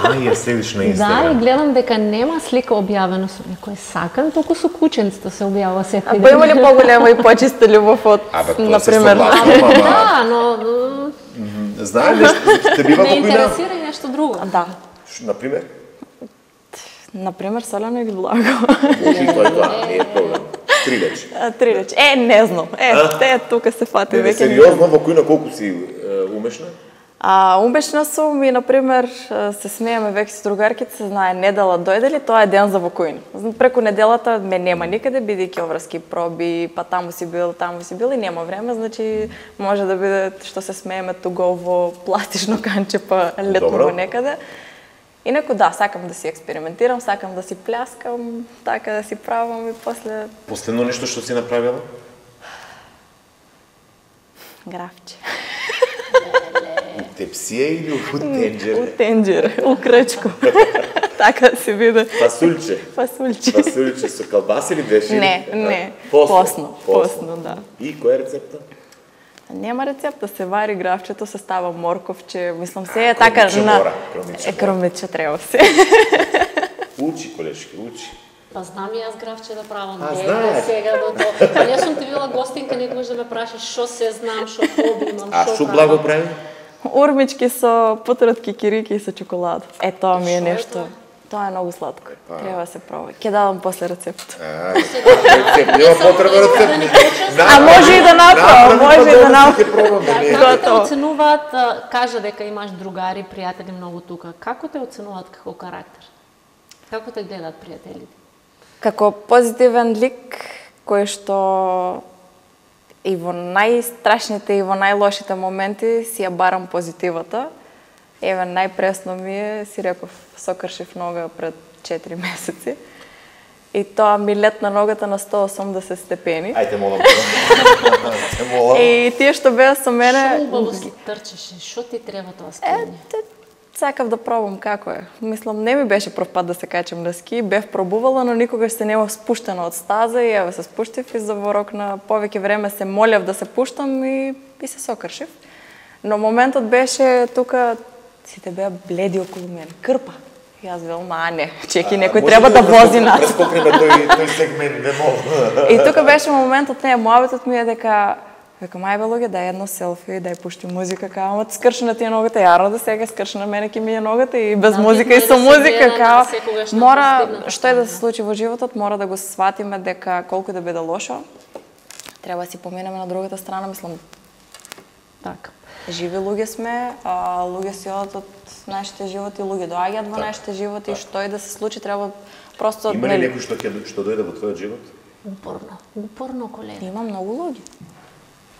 S2: А, ја следиш на Инстаграм.
S1: Да, и гледам дека нема слика објавена со некој сакан, толку со кученцата се објавува секој
S3: А
S1: ден.
S3: па има ли поголема и почиста љубов од, например?
S1: Да, но
S2: Знаеш ли, те бива
S1: не
S2: покојна?
S1: интересира и нешто друго.
S3: Да.
S2: Например?
S3: Например, солено или благо.
S2: Може и тоа, тоа, не е проблем. Три речи.
S3: Три речи. Е, не знам. Е, те тука се фати
S2: Не,
S3: веќе.
S2: сериозно, во којна колку си е, умешна?
S3: А, умешна сум и, например, се смееме веќе со другарките, се знае, недела дојде ли, тоа е ден за вокојна. Преку неделата ме нема никаде, бидејќи обврски проби, па таму си бил, таму си бил и нема време, значи може да биде што се смееме туго во пластично канче, па летно во некаде. Инаку да, сакам да си експериментирам, сакам да си пляскам, така да си правам и после...
S2: Последно нешто што си направила?
S3: Графче.
S2: Тепсија или у тенџере?
S3: У тенџере, у крчку. Така се биде.
S2: Фасулче?
S3: Фасулче.
S2: Фасулче со калбаси или беше?
S3: Не, не.
S2: Посно.
S3: Посно, посно, да.
S2: И која е рецепта?
S3: Нема рецепта, се вари графчето, се става морковче, мислам се е така на...
S2: мора, кромиче
S3: Е, кромиче треба се.
S2: Учи, колешки, учи.
S1: Па знам и јас графче да правам.
S2: А,
S1: Не,
S2: знаеш?
S1: сега до тоа. Па не сум ти била гостинка, некогаш да ме прашаш што се знам, што хоби имам,
S2: А
S1: што
S2: што
S1: правам.
S2: благо прави?
S3: Урмички со путратки, кирики и со чоколада. Е, тоа ми е
S1: Шо е
S3: нешто.
S1: тоа?
S3: Тоа е многу сладко. Треба да се проба. Ќе дадам после рецепт.
S2: А, рецепт, нема потреба рецепт.
S3: А може и да направам, може и да направам.
S1: Да,
S2: не.
S1: како те
S3: Готово.
S1: оценуваат, а, кажа дека имаш другари, пријатели многу тука. Како те оценуваат како карактер? Како те гледаат пријателите?
S3: Како позитивен лик кој што и во најстрашните и во најлошите моменти си ја барам позитивата. Еве, најпресно ми е, си реков, сокршив нога пред четири месеци. И тоа ми летна ногата на сто и осумдесет степени.
S2: Ајде, молам. Те молам.
S3: И тие што беа со мене...
S1: Што убаво си трчеше? Што ти треба тоа скиње?
S3: Те, сакав да пробам како е. Мислам, не ми беше прв пат да се качам на ски, бев пробувала, но никогаш се нема спуштена од стаза и еве се спуштив и за во рок на повеќе време се молев да се пуштам и, и се сокршив. Но моментот беше тука, сите беа бледи околу мене, крпа. И јас велам, а не, чеки, некој треба да вози нас.
S2: Прескокнеме тој, тој сегмент, не мога.
S3: И тука беше моментот, не, мојавитот ми е дека Викам, ајбе луѓе, дај едно селфи, дај пушти музика, као, ама скршна ти е ногата, јарно да сега скршна мене ки ми е ногата и без
S1: Да,
S3: музика и
S1: битно е
S3: со
S1: да се
S3: музика,
S1: гледа
S3: као,
S1: на секогаш на
S3: мора,
S1: постигната
S3: што е да
S1: страна.
S3: се случи во животот, мора да го сватиме дека колку да биде лошо, треба да си поминеме на другата страна, мислам,
S1: Така.
S3: живи луѓе сме, а луѓе си одат од нашите животи, луѓе доаѓаат во нашите животи и што и да се случи, треба просто...
S2: Има ли
S3: нели,
S2: некој што ќе што дојде во твојот живот?
S1: Упорно, упорно колена.
S3: Има многу луѓе.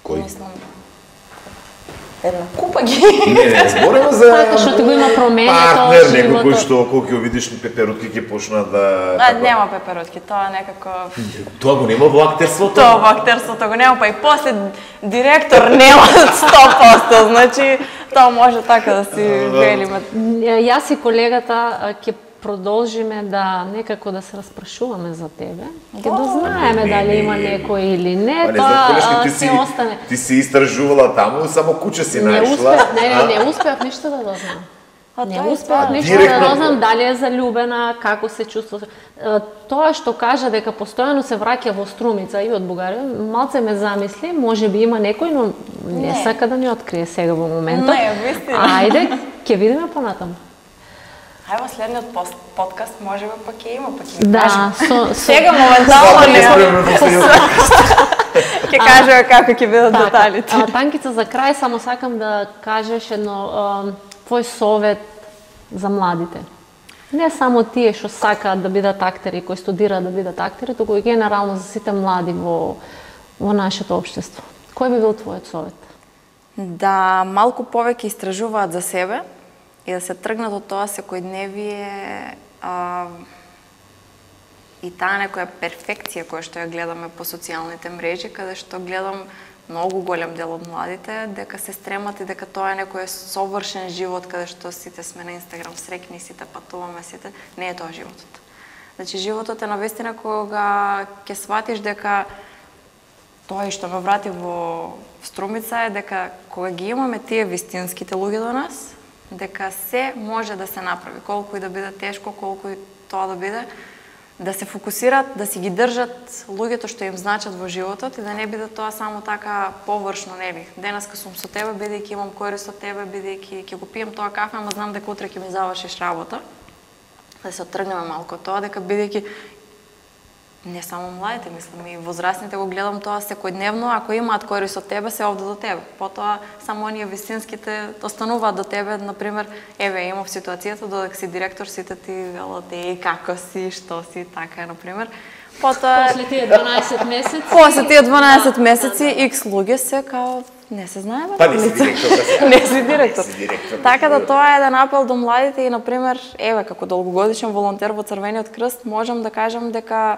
S2: Кој?
S3: Мислам, една купа ги.
S2: Не, не, зборимо за
S1: Така што ти го има променето
S2: партнер, некој
S1: животот.
S2: кој што кога ќе видиш пеперутки ќе почна да
S3: А, нема пеперутки, тоа некако...
S2: Тоа го нема во актерството.
S3: Тоа во актерството го нема, па и после директор нема сто проценти, значи тоа може така да си велиме.
S1: Јас и колегата а, ќе продолжиме да некако да се распрашуваме за тебе. Ќе дознаеме
S2: не,
S1: дали
S2: не.
S1: има некој или не,
S2: Па не
S1: тоа
S2: знам, колешки,
S1: а,
S2: ти
S1: се
S2: си,
S1: остане.
S2: ти си истражувала таму, само куче си
S1: Не
S2: најшла.
S1: успеав, не,
S2: а?
S1: не, не успеав ништо да дознам.
S3: А
S1: Не
S3: тоа е
S1: успеав
S3: тоа.
S1: ништо
S2: Директно-
S1: да дознам дали е заљубена, како се чувствува. Е, Тоа што кажа дека постојано се враќа во струмица и од Бугарија, малце ме замисли, може би има некој, но не,
S3: Не.
S1: сака да ни открие сега во моментот.
S3: Не, вистина.
S1: Ајде, ќе видиме понатаму.
S3: Ај во следниот пост- подкаст може би пак ќе има, пак ќе
S1: Да,
S3: кажем.
S1: со, со...
S3: Сега моментално
S2: Свака
S3: не.
S2: ќе спреме во следниот.
S3: Ќе кажеме како ќе бидат
S1: Така,
S3: деталите.
S1: а, Танкица, за крај само сакам да кажеш едно а, твој совет за младите. Не само тие што сакаат да бидат актери, кои студираат да бидат актери, туку и генерално за сите млади во, во нашето општество. Кој би бил твојот совет?
S3: Да малку повеќе истражуваат за себе и да се тргнат од тоа секојдневие а, и таа некоја перфекција која што ја гледаме по социјалните мрежи, каде што гледам многу голем дел од младите, дека се стремат и дека тоа е некој совршен живот, каде што сите сме на Инстаграм срекни, сите патуваме, сите... Не е тоа животот. Значи, животот е навистина кога ќе сватиш дека тоа што ме врати во Струмица е дека кога ги имаме тие вистинските луѓе до нас, дека се може да се направи, колку и да биде тешко, колку и тоа да биде, да се фокусират, да си ги држат луѓето што им значат во животот и да не биде тоа само така површно, нели. Денеска сум со тебе, бидејќи имам корист од тебе, бидејќи ќе го пием тоа кафе, ама знам дека утре ќе ми завршиш работа. Да се оттргнеме малку од тоа, дека бидејќи не само младите, мислам, и возрастните го гледам тоа секојдневно, ако имаат корист од тебе, се овде до тебе. Потоа само оние вистинските остануваат до тебе, например, еве имав ситуацијата додека си директор, сите ти велат еј како си, што си, така например. Потоа
S1: после тие дванаесет месеци,
S3: после тие дванаесет месеци икс луѓе се као не се знае
S2: Па не си директор, да се.
S3: не си директор. Така да тоа е еден апел до младите и например, еве како долгогодишен волонтер во Црвениот крст, можам да кажам дека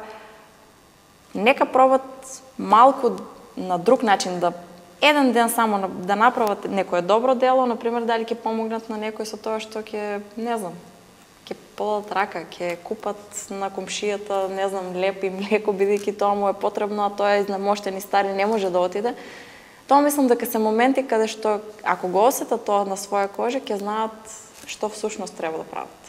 S3: нека пробат малку на друг начин да еден ден само да направат некое добро дело, например дали ќе помогнат на некој со тоа што ќе, не знам, ќе подадат рака, ќе купат на комшијата, не знам, леп и млеко, бидејќи тоа му е потребно, а тоа е изнемоштен и стар и не може да отиде. Тоа мислам дека се моменти каде што ако го осетат тоа на своја кожа, ќе знаат што всушност треба да прават.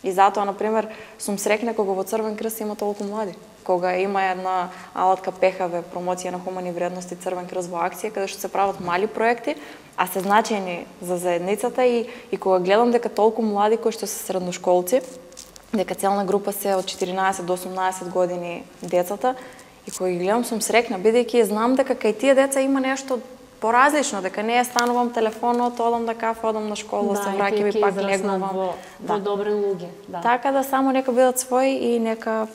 S3: И затоа, например, сум срекна кога во Црвен крст има толку млади. Кога има една алатка ПХВ, промоција на хумани вредности Црвен крст во акција, каде што се прават мали проекти, а се значајни за заедницата и, и кога гледам дека толку млади кои што се средношколци, дека целна група се од четиринаесет до осумнаесет години децата, и кога ги гледам сум срекна, бидејќи знам дека кај тие деца има нешто поразлично, дека не ја станувам телефонот, одам да кафе, одам на школа,
S1: да,
S3: се враќам и пак легнувам.
S1: Во,
S3: да.
S1: во добри луѓе. Да.
S3: Така да само нека бидат своји и нека,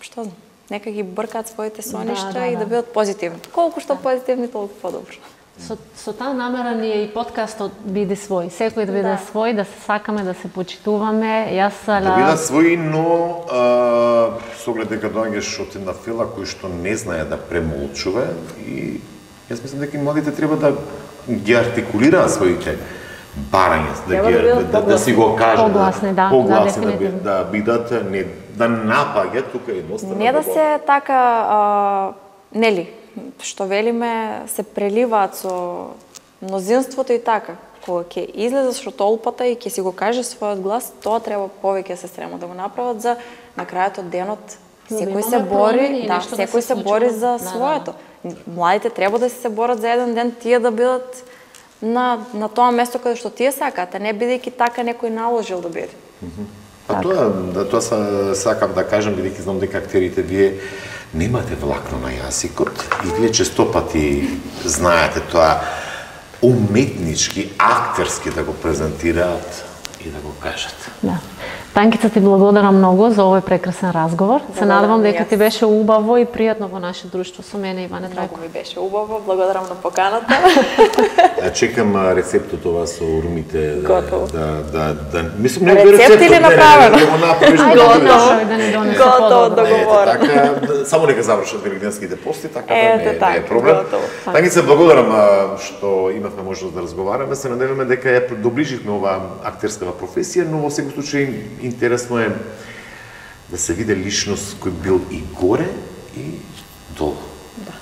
S3: што знам, нека ги бркаат своите соништа
S1: да, да,
S3: и да,
S1: да
S3: бидат позитивни. Колку што да. позитивни, толку подобро.
S1: Со, со таа намера ни е и подкастот биде свој. Секој да биде да. свој, да се сакаме, да се почитуваме. Јас
S2: да бидат своји, но а, со оглед дека доаѓаш од една фила кој што не знае да премолчува и јас мислам дека младите треба да ги артикулираат своите барања, да ги да, да, да си го кажат,
S1: погласни, да,
S2: погласни
S1: да,
S2: да, да, да бидат не да напаѓаат тука едноставно.
S3: Не да се така а, нели што велиме, се преливаат со мнозинството и така. Кога ќе излезеш од толпата и ќе си го каже својот глас, тоа треба повеќе се стрема да го направат за на крајот од денот. Секој се бори, да, секој се бори за своето. Младите треба да се борат за еден ден тие да бидат на на тоа место каде што тие сакаат, а не бидејќи така некој наложил да биде.
S2: А тоа, да, тоа сакам да кажам, бидејќи знам дека актерите вие немате влакно на јазикот и вие често пати знаете тоа уметнички, актерски да го презентираат и да го кажат.
S1: Да. Танкица, ти благодарам многу за овој прекрасен разговор. Се надевам дека ти беше убаво и пријатно во наше друштво со мене Иване Трајко.
S3: Многу ми беше убаво, благодарам на поканата.
S2: Чекам рецептот ова со урмите.
S3: Готово.
S2: Да, да, да, мислам не
S3: рецепт или направено?
S2: Да го направиш.
S1: Готово, да ни донесе
S3: готово договорено.
S2: Така, само нека завршат великденските пости, така да не,
S3: так,
S2: не е проблем.
S3: Готово.
S2: Танкица, благодарам што имавме можност да разговараме. Се надеваме дека ја доближивме оваа актерскава професија, но во секој случај интересно е да се види личност кој бил и горе и долу.
S3: Да.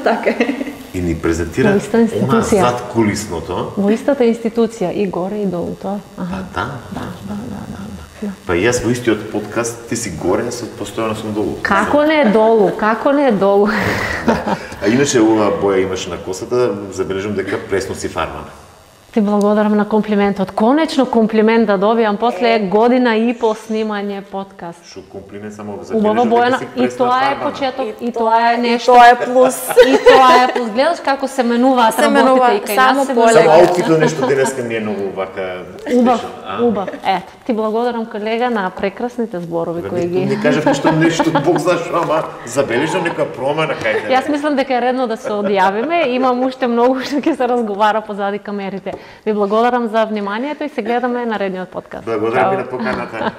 S3: Така е.
S2: И ни презентира она зад кулисното.
S1: Во истата институција, и горе и долу, тоа.
S2: Аха. Да,
S1: да, да, да, да.
S2: Па јас во истиот подкаст, ти си горе, јас постојано сум долу.
S1: Како не е долу, како не е долу.
S2: Да. А иначе оваа боја имаше на косата, забележам дека пресно си фармана.
S1: Ти благодарам на комплиментот. Конечно комплимент да добијам после година и по снимање подкаст.
S2: Шо комплимент само за
S1: Убава Бојана, и тоа е почеток, и, и тоа е нешто.
S3: И тоа е плюс.
S1: И тоа е плюс. Гледаш како се менуваат работите и кај нас се
S2: менуваат. Само аутфитот нешто денеска не е многу вака.
S1: Убав, убав. Ето, ти благодарам колега на прекрасните зборови кои ги.
S2: Не кажав нешто нешто Бог знае што, ама забележам некоја промена кај тебе.
S1: Јас мислам дека е редно да се одјавиме, имам уште многу што ќе се разговара позади камерите. Ви благодарам за вниманието и се гледаме наредниот подкаст.
S2: Благодарам и на поканата.